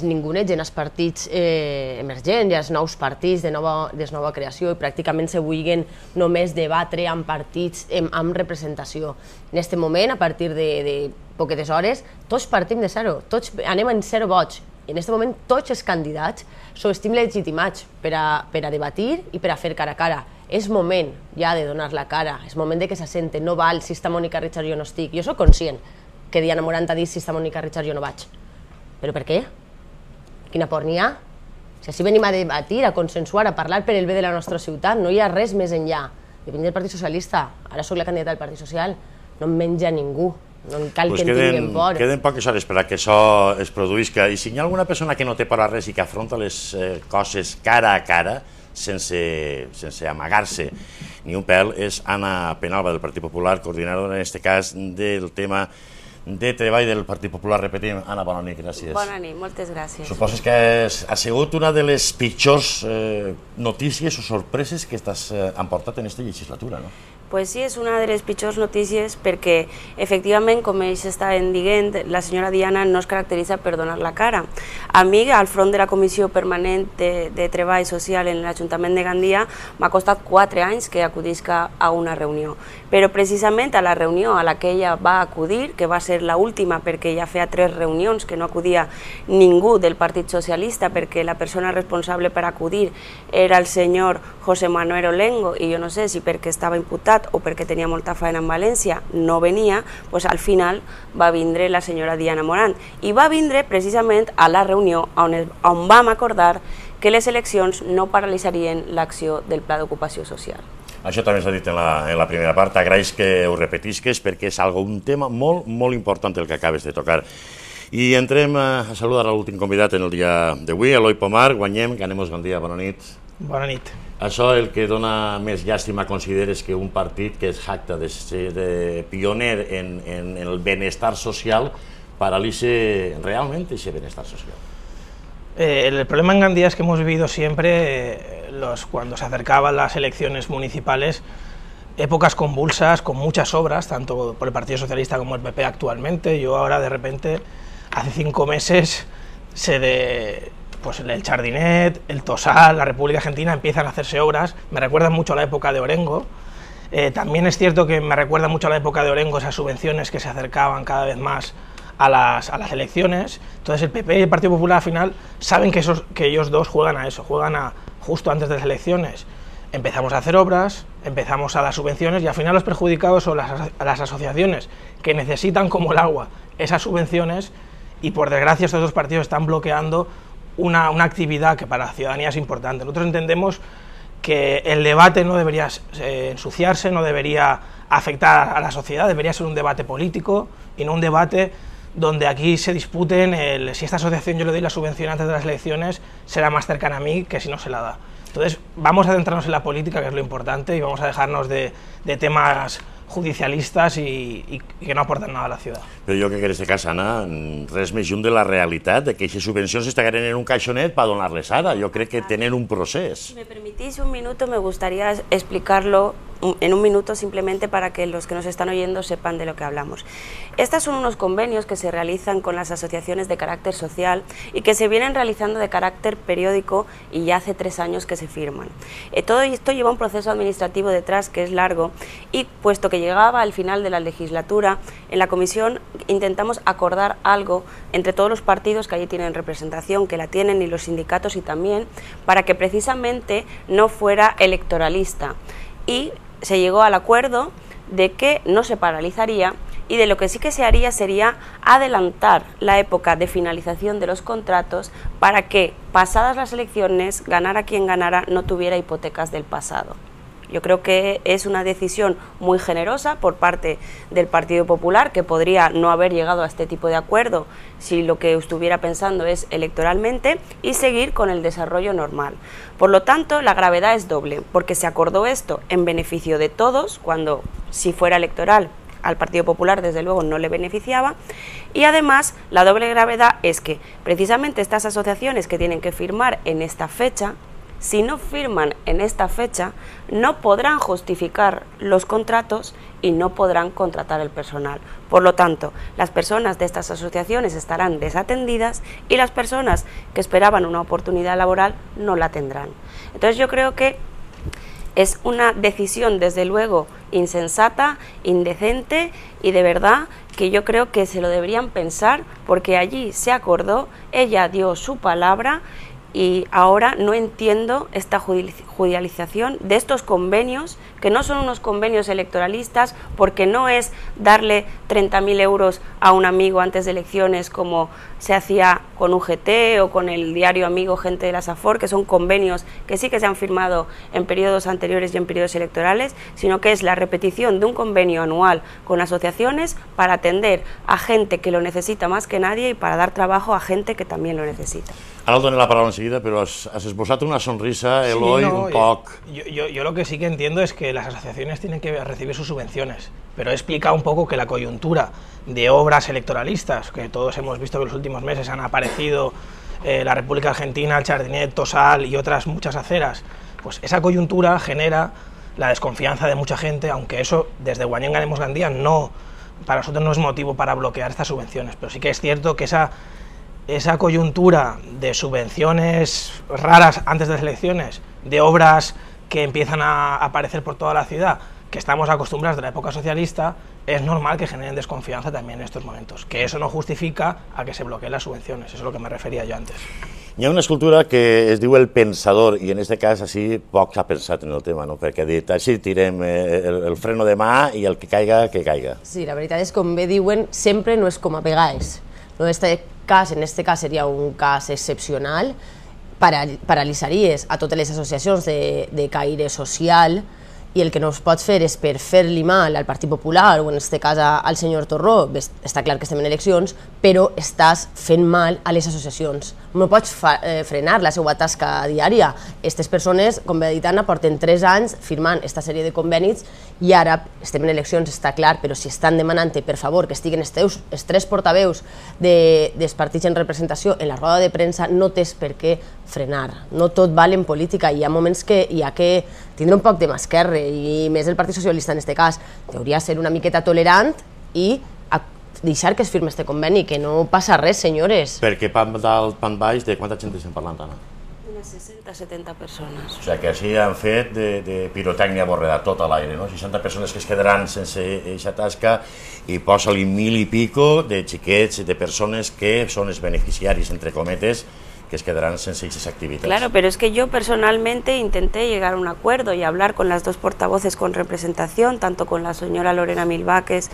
ningú neix en els partits emergents, els nous partits de nova creació, i pràcticament se vulguin només debatre amb partits amb representació. En aquest moment, a partir de poquetes hores, tots partim de zero, tots anem en 0 vots. I en aquest moment tots els candidats estem legitimats per a debatir i per a fer cara a cara. És moment ja de donar la cara, és moment de que s'assente, no val si està Mònica Richard jo no estic. Jo soc conscient que Diana Morant ha dit si està Mònica Richard jo no vaig. Però per què? Quina por n'hi ha? Si així venim a debatir, a consensuar, a parlar per el bé de la nostra ciutat, no hi ha res més enllà. Depèn del Partit Socialista, ara sóc la candidata del Partit Social, no em menja ningú. No cal que en tinguin por. Queden poques hores per a que això es produïsca, i si hi ha alguna persona que no té por a res i que afronta les coses cara a cara, sense amagar-se ni un pèl, és Anna Penalba del Partit Popular, coordinadora en aquest cas del tema de treball del Partit Popular. Repetim, Anna, bona nit, gràcies. Bona nit, moltes gràcies. Suposes que ha sigut una de les pitjors notícies o sorpreses que han portat en aquesta legislatura, no? Pues sí, és una de les pitjors notícies perquè, efectivament, com ells estaven dient, la senyora Diana no es caracteritza per donar la cara. A mi, al front de la Comissió Permanent de Treball Social en l'Ajuntament de Gandia, m'ha costat 4 anys que acudisca a una reunió. Però precisament a la reunió a la que ella va acudir, que va ser l'última perquè ja feia 3 reunions que no acudia ningú del Partit Socialista perquè la persona responsable per acudir era el senyor José Manuel Olengo, i jo no sé si perquè estava imputat o perquè tenia molta feina en València no venia, doncs al final va vindre la senyora Diana Morant, i va vindre precisament a la reunió on vam acordar que les eleccions no paralitzarien l'acció del Pla d'Ocupació Social. Això també s'ha dit en la primera part, agraeix que ho repetisques perquè és un tema molt, molt important el que acabes de tocar. I entrem a saludar l'últim convidat en el dia d'avui, Eloi Pomar. Guanyem, Ganemos Gandia, bona nit. Bona nit. Això el que dona més llàstima consideres que un partit que es jacta de ser pioner en el benestar social paralitza realment aquest benestar social. El problema en Gandía es que hemos vivido siempre, cuando se acercaban las elecciones municipales, épocas convulsas, con muchas obras, tanto por el Partido Socialista como el PP actualmente. Yo ahora de repente, hace 5 meses, pues el Chardinet, el Tosal, la República Argentina empiezan a hacerse obras. Me recuerdan mucho a la época de Orengo. También es cierto que me recuerda mucho a la época de Orengo esas subvenciones que se acercaban cada vez más a las elecciones. Entonces el PP y el Partido Popular al final saben que ellos dos juegan a eso, juegan a justo antes de las elecciones. Empezamos a hacer obras, empezamos a dar subvenciones y al final los perjudicados son las asociaciones que necesitan como el agua esas subvenciones, y por desgracia estos dos partidos están bloqueando una actividad que para la ciudadanía es importante. Nosotros entendemos que el debate no debería ensuciarse, no debería afectar a la sociedad, debería ser un debate político y no un debate donde aquí se disputen si esta asociación yo le doy la subvención antes de las elecciones será más cercana a mí que si no se la da. Entonces vamos a centrarnos en la política, que es lo importante, y vamos a dejarnos de temas judicialistas i que no aporten nada a la ciutat. Però jo crec que en aquest cas, Anna, res més lluny de la realitat de que aquestes subvencions estaran en un caixonet per donar-les ara. Jo crec que tenen un procés. Si me permitís un minuto, me gustaría explicarlo en un minuto simplemente para que los que nos están oyendo sepan de lo que hablamos. Estos son unos convenios que se realizan con las asociaciones de carácter social y que se vienen realizando de carácter periódico y ya hace 3 años que se firman. Todo esto lleva un proceso administrativo detrás que es largo, y puesto que llegaba al final de la legislatura, en la comisión intentamos acordar algo entre todos los partidos que allí tienen representación, que la tienen, y los sindicatos y también, para que precisamente no fuera electoralista. Y se llegó al acuerdo de que no se paralizaría y de lo que sí que se haría sería adelantar la época de finalización de los contratos para que, pasadas las elecciones, ganara quien ganara, no tuviera hipotecas del pasado. Yo creo que es una decisión muy generosa por parte del Partido Popular, que podría no haber llegado a este tipo de acuerdo si lo que estuviera pensando es electoralmente, y seguir con el desarrollo normal. Por lo tanto, la gravedad es doble, porque se acordó esto en beneficio de todos, cuando si fuera electoral al Partido Popular desde luego no le beneficiaba, y además la doble gravedad es que precisamente estas asociaciones que tienen que firmar en esta fecha, si no firman en esta fecha, no podrán justificar los contratos y no podrán contratar el personal. Por lo tanto, las personas de estas asociaciones estarán desatendidas y las personas que esperaban una oportunidad laboral no la tendrán. Entonces yo creo que es una decisión desde luego insensata, indecente, y de verdad que yo creo que se lo deberían pensar, porque allí se acordó, ella dio su palabra, y ahora no entiendo esta judicialización de estos convenios, que no son unos convenios electoralistas, porque no es darle 30.000 euros a un amigo antes de elecciones como se hacía con UGT o con el diario Amigo Gente de la Safor, que son convenios que sí que se han firmado en periodos anteriores y en periodos electorales, sino que es la repetición de un convenio anual con asociaciones para atender a gente que lo necesita más que nadie y para dar trabajo a gente que también lo necesita. Ara el dono la paraula enseguida, però has esbozat una sonrisa, Eloi, un poc... Yo lo que sí que entiendo es que las asociaciones tienen que recibir sus subvenciones, pero he explicado un poco que la coyuntura de obras electoralistas, que todos hemos visto que en los últimos meses han aparecido la República Argentina, el Chardinet, Tosal y otras muchas aceras, pues esa coyuntura genera la desconfianza de mucha gente, aunque eso desde Guanyen Ganemos Gandía no, para nosotros no es motivo para bloquear estas subvenciones, pero sí que es cierto que esa coyuntura de subvenciones raras antes de las elecciones, de obras que empiezan a aparecer por toda la ciudad, que estamos acostumbrados de la época socialista, es normal que generen desconfianza también en estos momentos, que eso no justifica a que se bloqueen las subvenciones, eso es lo que me refería yo antes. Hi ha una escultura que es diu El Pensador, i en aquest cas així poc s'ha pensat en el tema, no? Perquè ha dit, així tirem el freno de mà i el que caiga, que caiga. Sí, la veritat és, com bé diuen, sempre no és com a vegades. En este cas seria un cas excepcional, paralitzaries a totes les associacions de caire social, i el que no es pot fer és per fer-li mal al Partit Popular o en aquest cas al senyor Torró. Està clar que estem en eleccions, però estàs fent mal a les associacions. No pots frenar la seva tasca diària. Aquestes persones, com bé ha dit Anna, porten 3 anys firmant aquesta sèrie de convenis i ara estem en eleccions, està clar, però si estan demanant per favor que estiguen els 3 portaveus dels partits en representació en la roda de premsa, no tens per què frenar. No tot val en política, hi ha moments que hi ha que tindre un poc de mà esquerra, i més el Partit Socialista en aquest cas. Hauria de ser una miqueta tolerant i deixar que es firme este conveni, que no passa res, senyores. Perquè pan dalt, pan baix, de quanta gent estem parlant, Anna? Unes 60-70 persones. O sigui que així han fet de pirotècnia borreda tot a l'aire, no? 60 persones que es quedaran sense aquesta tasca i posa-li 1.000 i pico de xiquets, de persones que són els beneficiaris, entre cometes, que es quedarán sin esas actividades. Claro, pero es que yo personalmente intenté llegar a un acuerdo y hablar con las 2 portavoces con representación, tanto con la señora Lorena Milváquez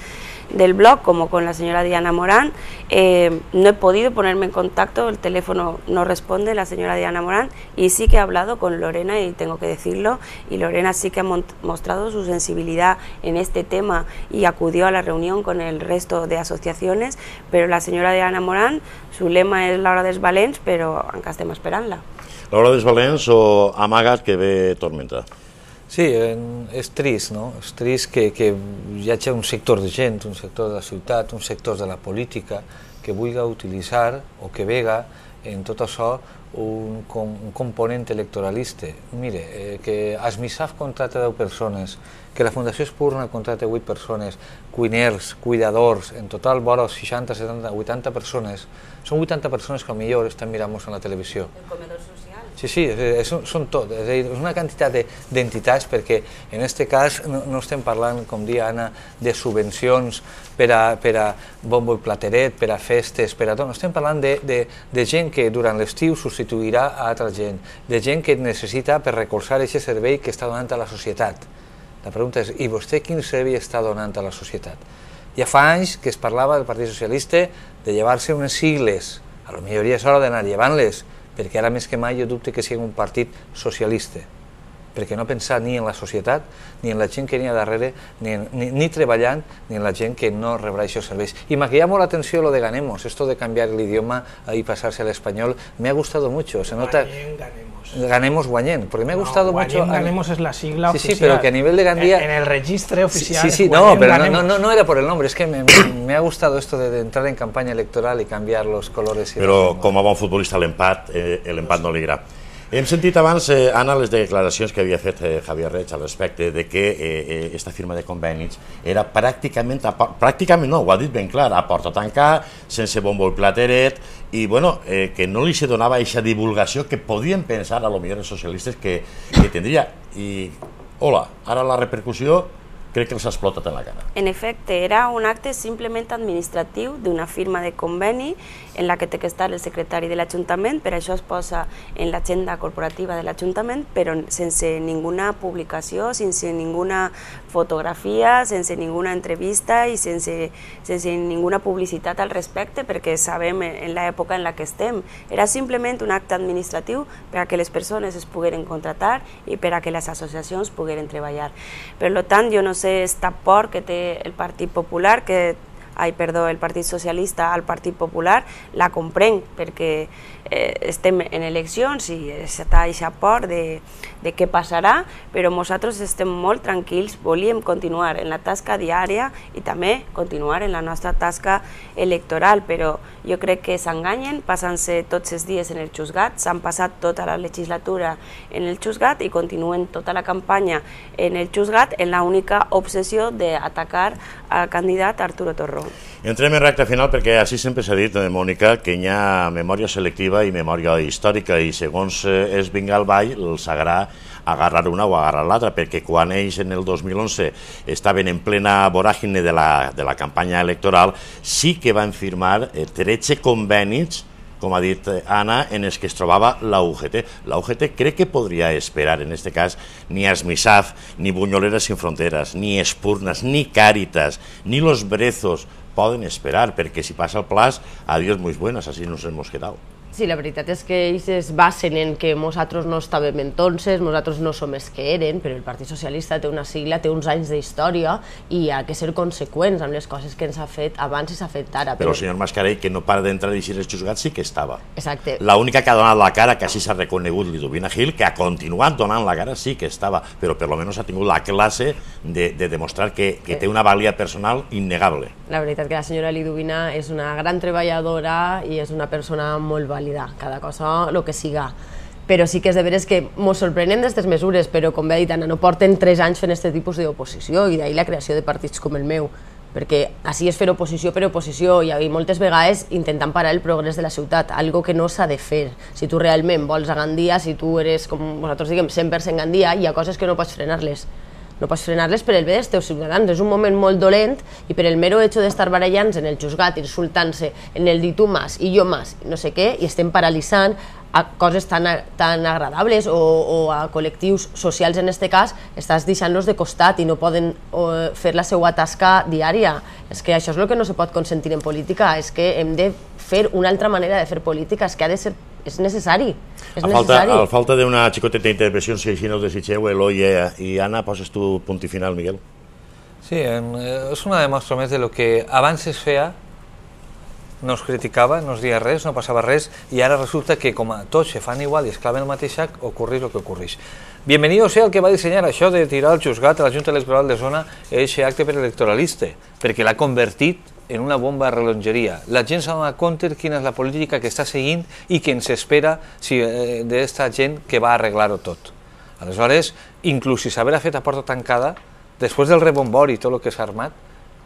del blog como con la señora Diana Morán. No he podido ponerme en contacto, el teléfono no responde la señora Diana Morán, y sí que he hablado con Lorena, y tengo que decirlo, y Lorena sí que ha mostrado su sensibilidad en este tema y acudió a la reunión con el resto de asociaciones, pero la señora Diana Morán, su lema es l'hora dels valents, però encara estem esperant-la. L'hora dels valents o amagat que ve tormenta? Sí, és trist, no? És trist que hi hagi un sector de gent, un sector de la ciutat, un sector de la política que vulgui utilitzar o que vega en tot això un component electoralista. Mire, que Asmisaf contrata 10 persones, que la Fundació Espurna contrata 8 persones, cuiners, cuidadors, en total vora 60, 70, 80 persones. Són 80 persones que potser estan mirant-nos en la televisió. El comedor social. Sí, són tot. És a dir, és una quantitat d'entitats, perquè en aquest cas no estem parlant, com dia Anna, de subvencions per a bombo i plateret, per a festes, per a tot. Estem parlant de gent que durant l'estiu substituirà a altra gent, de gent que necessita per recolzar aquest servei que està donant a la societat. La pregunta és, i vostè quin servei està donant a la societat? Ja fa anys que es parlava del Partit Socialista de llevar-se unes sigles, a lo millor ja és hora d'anar llevant-les, perquè ara més que mai jo dubte que sigui un partit socialista, perquè no pensar ni en la societat, ni en la gent que n'hi ha darrere, ni treballant, ni en la gent que no rebrà aquests serveis. Y me ha llamado la atención lo de Ganemos, esto de cambiar el idioma y pasarse al español, me ha gustado mucho. Se nota... Ganemos Guanyén, porque me ha gustado mucho... Ganemos es la sigla oficial. Sí, pero que a nivel de Gandía... En el registro oficial... Sí, no, pero no era por el nombre, es que me ha gustado esto de entrar en campaña electoral y cambiar los colores. Però com a bon futbolista l'empat no li agrada. Hem sentit abans, Anna, les declaracions que havia fet Javier Reig al respecte de que aquesta firma de convenis era pràcticament no, ho ha dit ben clar, a porta tancada, sense bombo i plateret, i bueno, que no li se donava aquesta divulgació que podien pensar a lo millor els socialistes que tindria. I, hola, ara la repercussió crec que els ha explotat en la cara. En efecte, era un acte simplement administratiu d'una firma de conveni en la que té que estar el secretari de l'Ajuntament, per això es posa en l'agenda corporativa de l'Ajuntament, però sense ninguna publicació, sense ninguna fotografia, sense ninguna entrevista i sense ninguna publicitat al respecte, perquè sabem en l'època en la que estem. Era simplement un acte administratiu per a que les persones es pogueren contratar i per a que les associacions pogueren treballar. Per tant, jo no sé esta por que té el Partit Popular, el Partit Socialista al Partit Popular, la comprenc perquè estem en eleccions i està aquesta por de què passarà, però nosaltres estem molt tranquils, volíem continuar en la tasca diària i també continuar en la nostra tasca electoral, però jo crec que s'enganyen passant-se tots els dies en el Xusgat, s'han passat tota la legislatura en el Xusgat i continuen tota la campanya en el Xusgat en l'única obsessió d'atacar al candidat Arturo Torró. Entrem en recta final perquè així sempre s'ha dit, Mònica, que hi ha memòria selectiva i memòria històrica i segons es vinga al ball els agrada agarrar una o agarrar l'altra, perquè quan ells en el 2011 estaven en plena voràgine de la campanya electoral sí que van firmar 13 convenis, com ha dit Anna, en els que es trobava la UGT. La UGT crec que podria esperar, en aquest cas, ni Asmisaf, ni Bunyoleras Sin Fronteras, ni Espurnas, ni Càritas, ni Los Brezos poden esperar, perquè si passa el plaç, adiós, muy buenas, así nos hemos quedado. Sí, la veritat és que ells es basen en que nosaltres no estàvem entonces, nosaltres no som els que eren, però el Partit Socialista té una sigla, té uns anys d'història i ha de ser conseqüents amb les coses que ens ha fet abans i s'ha fet ara. Però el senyor Mascarell, que no para d'entrar i eixir els juzgats, sí que estava. Exacte. L'única que ha donat la cara, que així s'ha reconegut Liduvina Gil, que ha continuat donant la cara, sí que estava, però per lo menos ha tingut la classe de demostrar que té una valia personal innegable. La veritat que la senyora Liduvina és una gran treballadora i és una persona molt vàlida, cada cosa el que siga. Però sí que és de veres que ens sorprenen d'aquestes mesures, però com bé ha dit Anna, no porten 3 anys fent aquest tipus d'oposició i d'ahir la creació de partits com el meu, perquè així és fer oposició per oposició i moltes vegades intentant parar el progrés de la ciutat, algo que no s'ha de fer. Si tu realment vols a Gandia, si tu eres, com nosaltres diguem, 100% Gandia, hi ha coses que no pots frenar-les. No pots frenar-les per el bé dels teus ciutadans. És un moment molt dolent i per el mero hecho d'estar barallant-se en el juzgat, insultant-se, en el dir tu más i jo más, no sé què, i estem paralitzant a coses tan agradables o a col·lectius socials, en aquest cas, estàs deixant-los de costat i no poden fer la seva tasca diària. És que això és el que no se pot consentir en política, és que hem de fer una altra manera de fer política, és que ha de ser... és necessari. A falta d'una xicoteta intervenció, si així no ho desitgeu, Eloi i Anna, poses tu punt i final, Miguel? Sí, és una demostra més de lo que abans es feia, no es criticava, no es deia res, no passava res, i ara resulta que com a tots se fan igual i es claven el mateix sac, ocorreix el que ocorreix. Bienvenido sea el que va dissenyar això de tirar el juzgat a la Junta Electoral de Zona aquest acte preelectoralista, perquè l'ha convertit en una bomba de rellotgeria. La gent s'ha donat compte de quina és la política que està seguint i que ens espera d'esta gent que va arreglar-ho tot. Aleshores, inclús si s'haurà fet a porta tancada, després del rebombori i tot el que s'ha armat,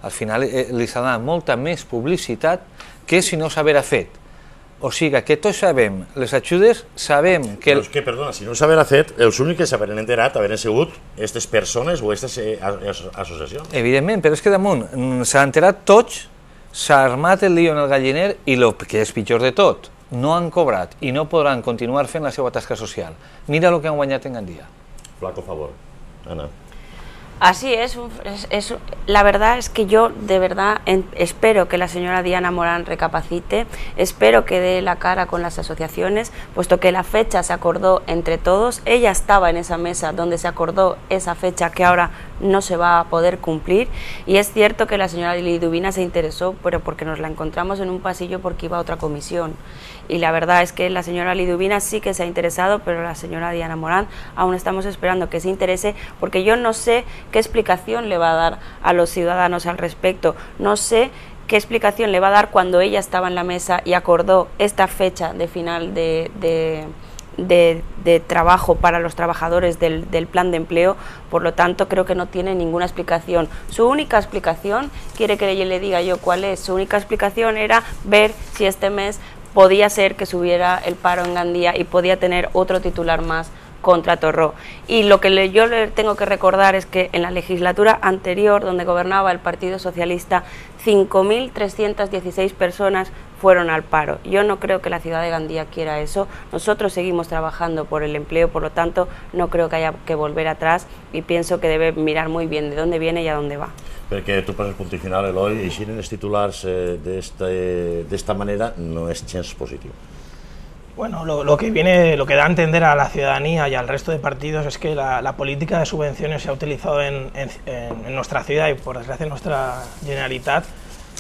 al final li s'ha donat molta més publicitat que si no s'haurà fet. O sigui que tots sabem, les ajudes sabem que... Però és que, perdona, si no s'haurà fet, els únics que s'haurien enterat haveren sigut aquestes persones o aquestes associacions. Evidentment, però és que damunt s'ha enterat tots, s'ha armat el lío en el galliner i el que és pitjor de tot, no han cobrat i no podran continuar fent la seva tasca social. Mira el que han guanyat en Gandia. Flaco favor. Anna. Así es, la verdad es que yo de verdad espero que la señora Diana Morán recapacite, espero que dé la cara con las asociaciones, puesto que la fecha se acordó entre todos, ella estaba en esa mesa donde se acordó esa fecha que ahora no se va a poder cumplir, y es cierto que la señora Liduvina se interesó, pero porque nos la encontramos en un pasillo porque iba a otra comisión, y la verdad es que la señora Liduvina sí que se ha interesado, pero la señora Diana Morán aún estamos esperando que se interese, porque yo no sé qué explicación le va a dar a los ciudadanos al respecto, no sé qué explicación le va a dar cuando ella estaba en la mesa y acordó esta fecha de final de trabajo para los trabajadores del plan de empleo. Por lo tanto, creo que no tiene ninguna explicación. Su única explicación, quiere que le diga yo cuál es, su única explicación era ver si este mes podía ser que subiera el paro en Gandía y podía tener otro titular más contra Torró. Y lo que yo le tengo que recordar es que en la legislatura anterior, donde gobernaba el Partido Socialista, 5.316 personas fueron al paro. Yo no creo que la ciudad de Gandía quiera eso. Nosotros seguimos trabajando por el empleo, por lo tanto, no creo que haya que volver atrás, y pienso que debe mirar muy bien de dónde viene y a dónde va. Perquè tu poses punt i final, Eloi, i així en els titulars d'esta manera no és gens positiu. Bueno, lo que da a entender a la ciudadanía y al resto de partidos es que la política de subvenciones se ha utilizado en nuestra ciudad y por desgracia en nuestra Generalitat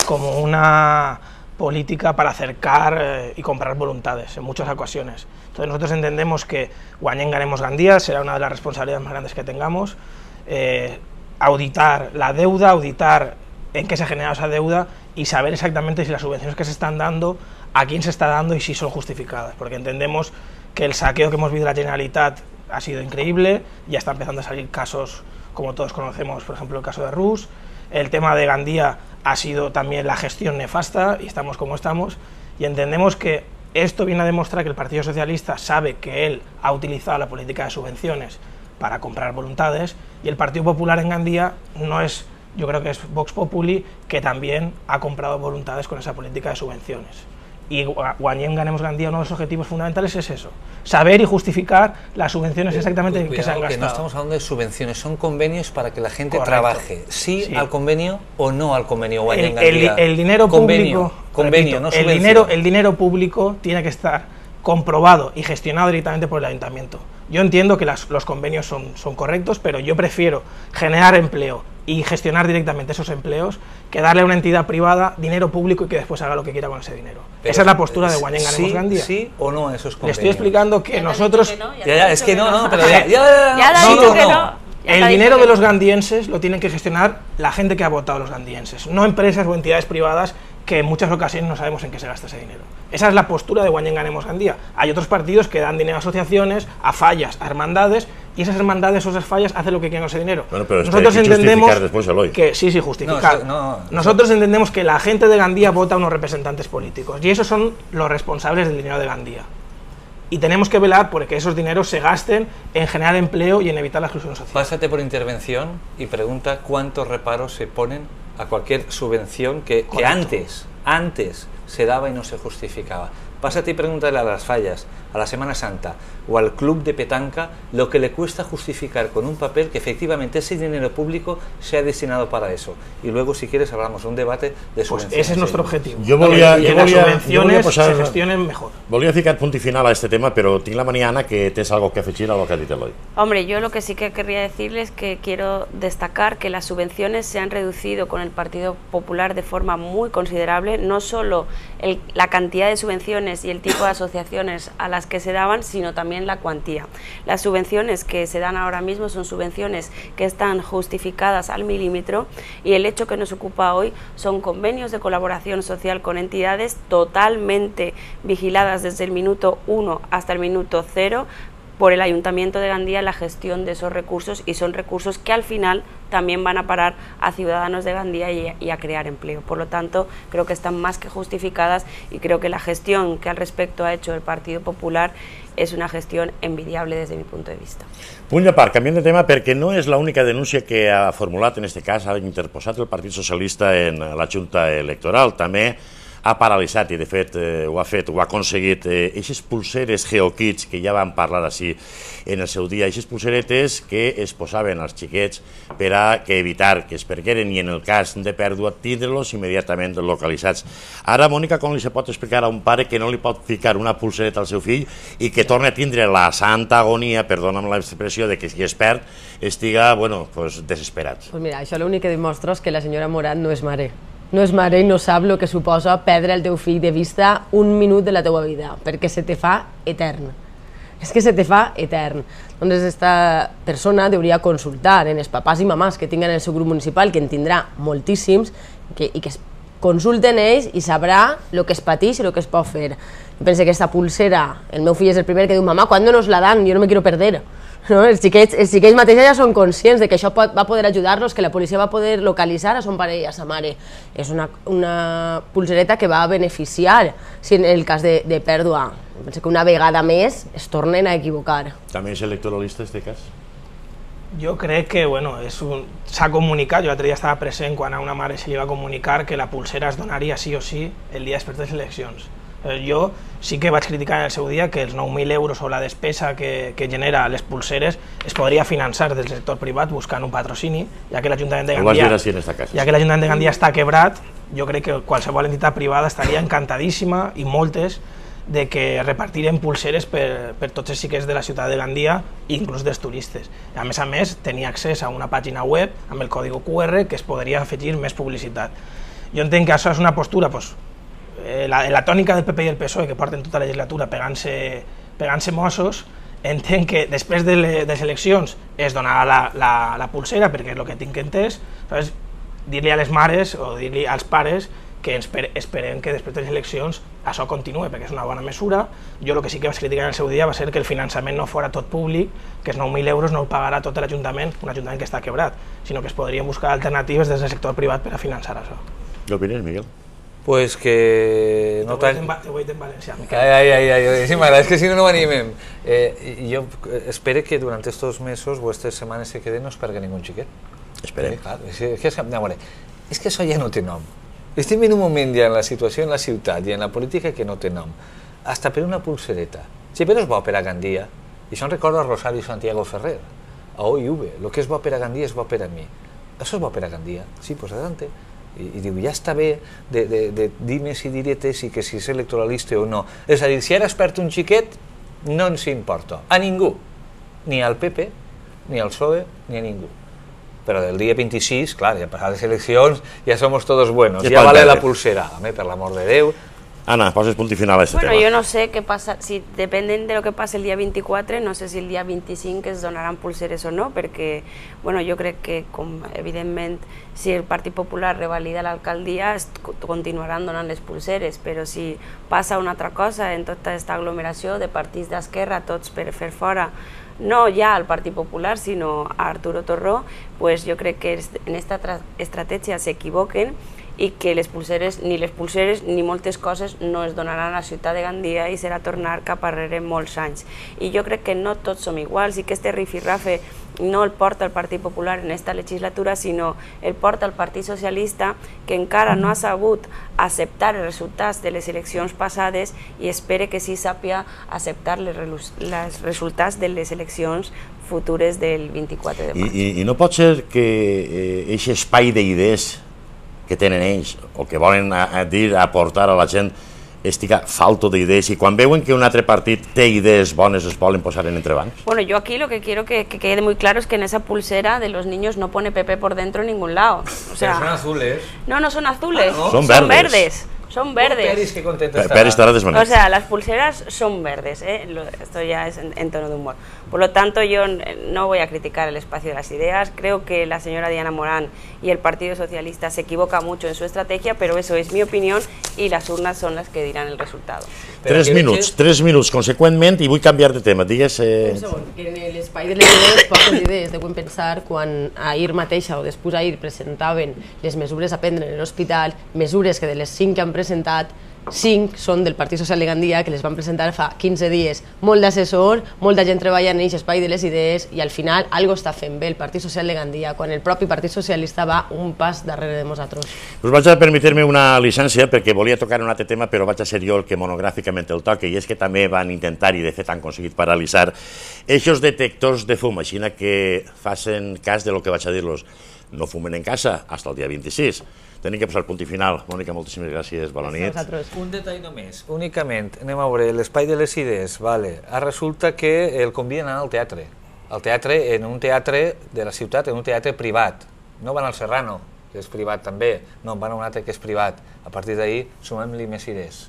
como una política para acercar y comprar voluntades en muchas ocasiones. Entonces nosotros entendemos que guanyem ganemos Gandía será una de las responsabilidades más grandes que tengamos, auditar la deuda, auditar en qué se ha generado esa deuda y saber exactamente si las subvenciones que se están dando, a quién se está dando y si son justificadas, porque entendemos que el saqueo que hemos vivido de la Generalitat ha sido increíble, ya está empezando a salir casos como todos conocemos, por ejemplo el caso de Rus, el tema de Gandía ha sido también la gestión nefasta y estamos como estamos, y entendemos que esto viene a demostrar que el Partido Socialista sabe que él ha utilizado la política de subvenciones para comprar voluntades, y el Partido Popular en Gandía no es, yo creo que es Vox Populi, que también ha comprado voluntades con esa política de subvenciones. Y guanyem ganemos Gandía, uno de los objetivos fundamentales es eso, saber y justificar las subvenciones exactamente en que se han gastado. Que no estamos hablando de subvenciones, son convenios para que la gente trabaje, sí al convenio o no al convenio. El dinero público, convenio, no subvención. El dinero público tiene que estar comprobado y gestionado directamente por el ayuntamiento. Yo entiendo que los convenios son correctos, pero yo prefiero generar empleo y gestionar directamente esos empleos que darle a una entidad privada dinero público y que después haga lo que quiera con ese dinero. Pero esa es la postura de guanyem ganemos Gandía. ¿Sí o no esos convenios? Le estoy explicando que nosotros... Es que no, pero el dinero de los gandienses lo tienen que gestionar la gente que ha votado a los gandienses, no empresas o entidades privadas que en muchas ocasiones no sabemos en qué se gasta ese dinero. Esa es la postura de guanyem ganemos Gandía. Hay otros partidos que dan dinero a asociaciones, a fallas, a hermandades, y esas hermandades o esas fallas hacen lo que quieren con ese dinero. Bueno, pero nosotros entendemos después, que sí, justificar. Nosotros entendemos que la gente de Gandía vota a unos representantes políticos y esos son los responsables del dinero de Gandía. Y tenemos que velar porque esos dineros se gasten en generar empleo y en evitar la exclusión social. Pásate por intervención y pregunta cuántos reparos se ponen a cualquier subvención que antes se daba y no se justificaba. Pásate y pregúntale a las fallas, a la Semana Santa o al club de petanca lo que le cuesta justificar con un papel que efectivamente ese dinero público sea destinado para eso. Y luego, si quieres, hablamos de un debate de subvenciones. Pues ese es nuestro objetivo. Que las subvenciones se gestionen mejor. Volia ficar punt i final a este tema, però tinc la mania, Anna, que tens algo que afegir a lo que ha dit Eloi. Hombre, yo lo que sí que querría decirles es que quiero destacar que las subvenciones se han reducido con el Partido Popular de forma muy considerable, no solo la cantidad de subvenciones y el tipo de asociaciones a las que se daban, sino también la cuantía. Las subvenciones que se dan ahora mismo son subvenciones que están justificadas al milímetro, y el hecho que nos ocupa hoy son convenios de colaboración social con entidades totalmente vigiladas desde el minuto 1 hasta el minuto 0 por el Ayuntamiento de Gandía, la gestión de esos recursos, y son recursos que al final también van a parar a ciudadanos de Gandía y a crear empleo. Por lo tanto, creo que están más que justificadas, y creo que la gestión que al respecto ha hecho el Partido Popular és una gestió envidiable des del meu punt de vista. Punt a part, canviant de tema, perquè no és l'única denúncia que ha formulat, en aquest cas, ha interposat el Partit Socialista en la Junta Electoral. També ha paralitzat, i de fet ho ha aconseguit, aquestes pulseres GeoKids, que ja vam parlar així en el seu dia, aquestes pulseretes que es posaven als xiquets per a evitar que es pergueren i en el cas de pèrdua tindre-los immediatament localitzats. Ara, Mònica, com li se pot explicar a un pare que no li pot ficar una pulsereta al seu fill i que torna a tindre la santa agonia, perdona'm l'expressió, de que si es perd estiga, bueno, desesperat? Pues mira, això l'únic que demostra és que la senyora Morat no és mare. No és mare i no sap el que suposa perdre el teu fill de vista un minut de la teua vida, perquè se te fa etern. És que se te fa etern. Doncs aquesta persona hauria consultar en els papàs i mamàs que tinguen el seu grup municipal, que en tindrà moltíssims, i que es consulten ells i sabrà el que es pateix i el que es pot fer. Jo penso que aquesta pulsera, el meu fill és el primer que diu, mamà, ¿cuándo nos la dan? Jo no me quiero perder. No? Els xiquets mateixos ja són conscients de que això va poder ajudar-los, que la policia va poder localitzar a son pare i a sa mare. És una pulsereta que va beneficiar si en el cas de pèrdua. Penso que una vegada més es tornen a equivocar. També és electoralista, en aquest cas? Jo crec que s'ha comunicat, jo l'altre dia estava present quan a una mare se li va comunicar que la pulsera es donaria sí o sí el dia després de les eleccions. Jo sí que vaig criticar en el seu dia que els 9.000 euros o la despesa que genera les pulseres es podria finançar del sector privat buscant un patrocini, ja que l'Ajuntament de Gandia està quebrat. Jo crec que qualsevol entitat privada estaria encantadíssima, i moltes, de que repartiren pulseres per tots els xiquets de la ciutat de Gandia, inclús dels turistes. A més, tenia accés a una pàgina web amb el codi QR que es podria afegir més publicitat. Jo entenc que això és una postura, la tònica del PP i el PSOE, que porten tota la legislatura pegant-se mossos. Entenc que després de les eleccions es donarà la pulsera, perquè és el que tinc entès. Dir-li a les mares o dir-li als pares que esperem que després de les eleccions això continuï, perquè és una bona mesura. Jo el que sí que vaig criticar en el seu dia va ser que el finançament no fos tot públic, que els 9.000 euros no el pagarà tot l'Ajuntament, un Ajuntament que està quebrat, sinó que es podrien buscar alternatives des del sector privat per a finançar això. Què opines, Miguel? Pues que no tan... Te ho he dit en valencià. Sí, m'agrada, és que si no animem. Jo espero que durant estos mesos o aquestes setmanes que queden no es perga ningú xiquet. Esperem. És que això ja no té nom. Estem en un moment ja en la situació en la ciutat i en la política que no té nom. Hasta per una pulsereta. Si però és bo per a Gandia, i això em recorda a Rosario Santiago Ferrer, a OIV, el que és bo per a Gandia és bo per a mi. Això és bo per a Gandia? Sí, pues adelante. I diu, ja està bé de dimes i diretes i que si és electoralista o no. És a dir, si ara es perd un xiquet, no ens importa. A ningú. Ni al PP, ni al PSOE, ni a ningú. Però del dia 26, clar, ja passar les eleccions, ja somos todos buenos. Ja vale la pulsera. Home, per l'amor de Déu. Ana, poses punt i final a este tema. Bueno, yo no sé qué pasa, si dependen de lo que pase el día 24, no sé si el día 25 es donaran pulseres o no, perquè, bueno, jo crec que, evidentment, si el Partit Popular revalida l'alcaldia, continuaran donant les pulseres, però si passa una altra cosa en tota aquesta aglomeració de partits d'esquerra, tots per fer fora, no ja al Partit Popular, sinó a Arturo Torró, pues jo crec que en aquesta estratègia s'equivoquen i que les pulseres ni moltes coses no es donaran a la ciutat de Gandia i serà tornar cap arrere molts anys. I jo crec que no tots som iguals i que este rifirrafe no el porta el Partit Popular en esta legislatura, sinó el porta el Partit Socialista, que encara no ha sabut acceptar els resultats de les eleccions passades i espere que sí sàpia acceptar els resultats de les eleccions futures del 24 de maig. I no pot ser que aquest espai d'idees que tenen ells, o que volen dir, aportar a la gent, estiga falto d'idees, i quan veuen que un altre partit té idees bones es volen posar en entrebancs? Bueno, yo aquí lo que quiero que quede muy claro es que en esa pulsera de los niños no pone PP por dentro en ningún lado. O sea, pero son azules. No, no son azules, ¿no? Son verdes. Son verdes. Peris, qué contento está. Peris estará desmanejado. O sea, las pulseras son verdes, esto ya es en tono de humor. Por lo tanto, yo no voy a criticar el espacio de las ideas. Creo que la señora Diana Morán y el Partido Socialista se equivoca mucho en su estrategia, pero eso es mi opinión y las urnas son las que dirán el resultado. 3 minuts, conseqüentment, i vull canviar de tema. Digues... Un segon, que en l'espai de les idees, poques idees, deuen pensar quan ahir mateixa o després ahir presentaven les mesures a prendre en l'hospital, mesures que de les 5 que han presentat, 5 són del Partit Social de Gandia, que les van presentar fa 15 dies. Molt d'assessor, molta gent treballant en aquest espai de les idees i al final algo està fent bé el Partit Social de Gandia quan el propi Partit Socialista va un pas darrere de nosaltres. Us vaig a permetre-me una llicència perquè volia tocar un altre tema, però vaig a ser jo el que monogràficament el toque, i és que també van intentar, i de fet han aconseguit paralitzar, eixos detectors de fum, així que facin cas de lo que vaig a dir-los. No fumen en casa fins al dia 26. Tenim que posar punt i final. Mònica, moltíssimes gràcies, bona nit. Un detall només, únicament, anem a veure, l'espai de les idees, resulta que el conviden a anar al teatre. Al teatre, en un teatre de la ciutat, en un teatre privat. No van al Serrano, que és privat també, no, van a un altre que és privat. A partir d'ahir, sumem-li més idees.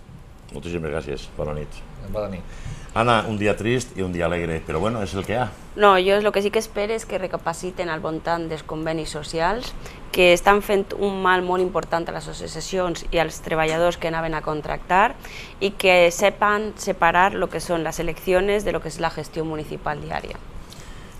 Moltíssimes gràcies, bona nit. Bona nit. Ana, un dia trist i un dia alegre, però bueno, és el que hi ha. No, jo el que sí que espero és que recapaciten al voltant dels convenis socials, que estan fent un mal molt important a les associacions i als treballadors que anaven a contractar i que sepan separar el que són les eleccions de lo que és la gestió municipal diària.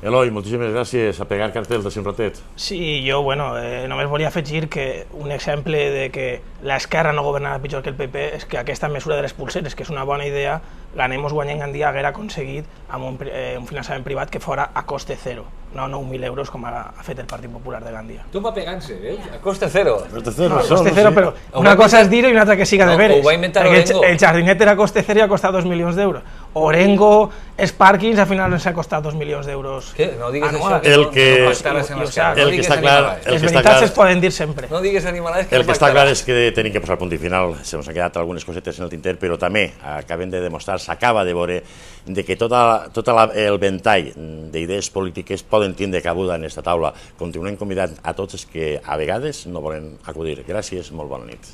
Eloi, moltíssimes gràcies. A pegar cartells de un ratet. Sí, jo, només volia afegir que un exemple de que l'esquerra no governava pitjor que el PP és que aquesta mesura de les pulseres, que és una bona idea, l'Anemos Guanyem Gandia haguera aconseguit amb un finançament privat que fora a coste zero, no 9.000 euros com ha fet el Partit Popular de Gandia. Tu va pegant-se, veus? A coste zero. A coste zero, però una cosa és dir-ho i una altra que siga de veres. Ho va inventar Orengo. El jardinet era a coste zero i ha costat 2 milions d'euros. Orengo, Sparkins, al final ens ha costat 2 milions d'euros. Què? No digues això, el que està clar... Les veritats es poden dir sempre. No digues animalades que el que està clar és que tenim que posar punt i final. Se ens han quedat algunes cosetes en el tinter, però també acabem de demostrar, s'acaba de veure, de que tot el ventall d'idees polítiques poden tindre cabuda en aquesta taula. Continuem convidant a tots els que a vegades no volen acudir. Gràcies, molt bona nit.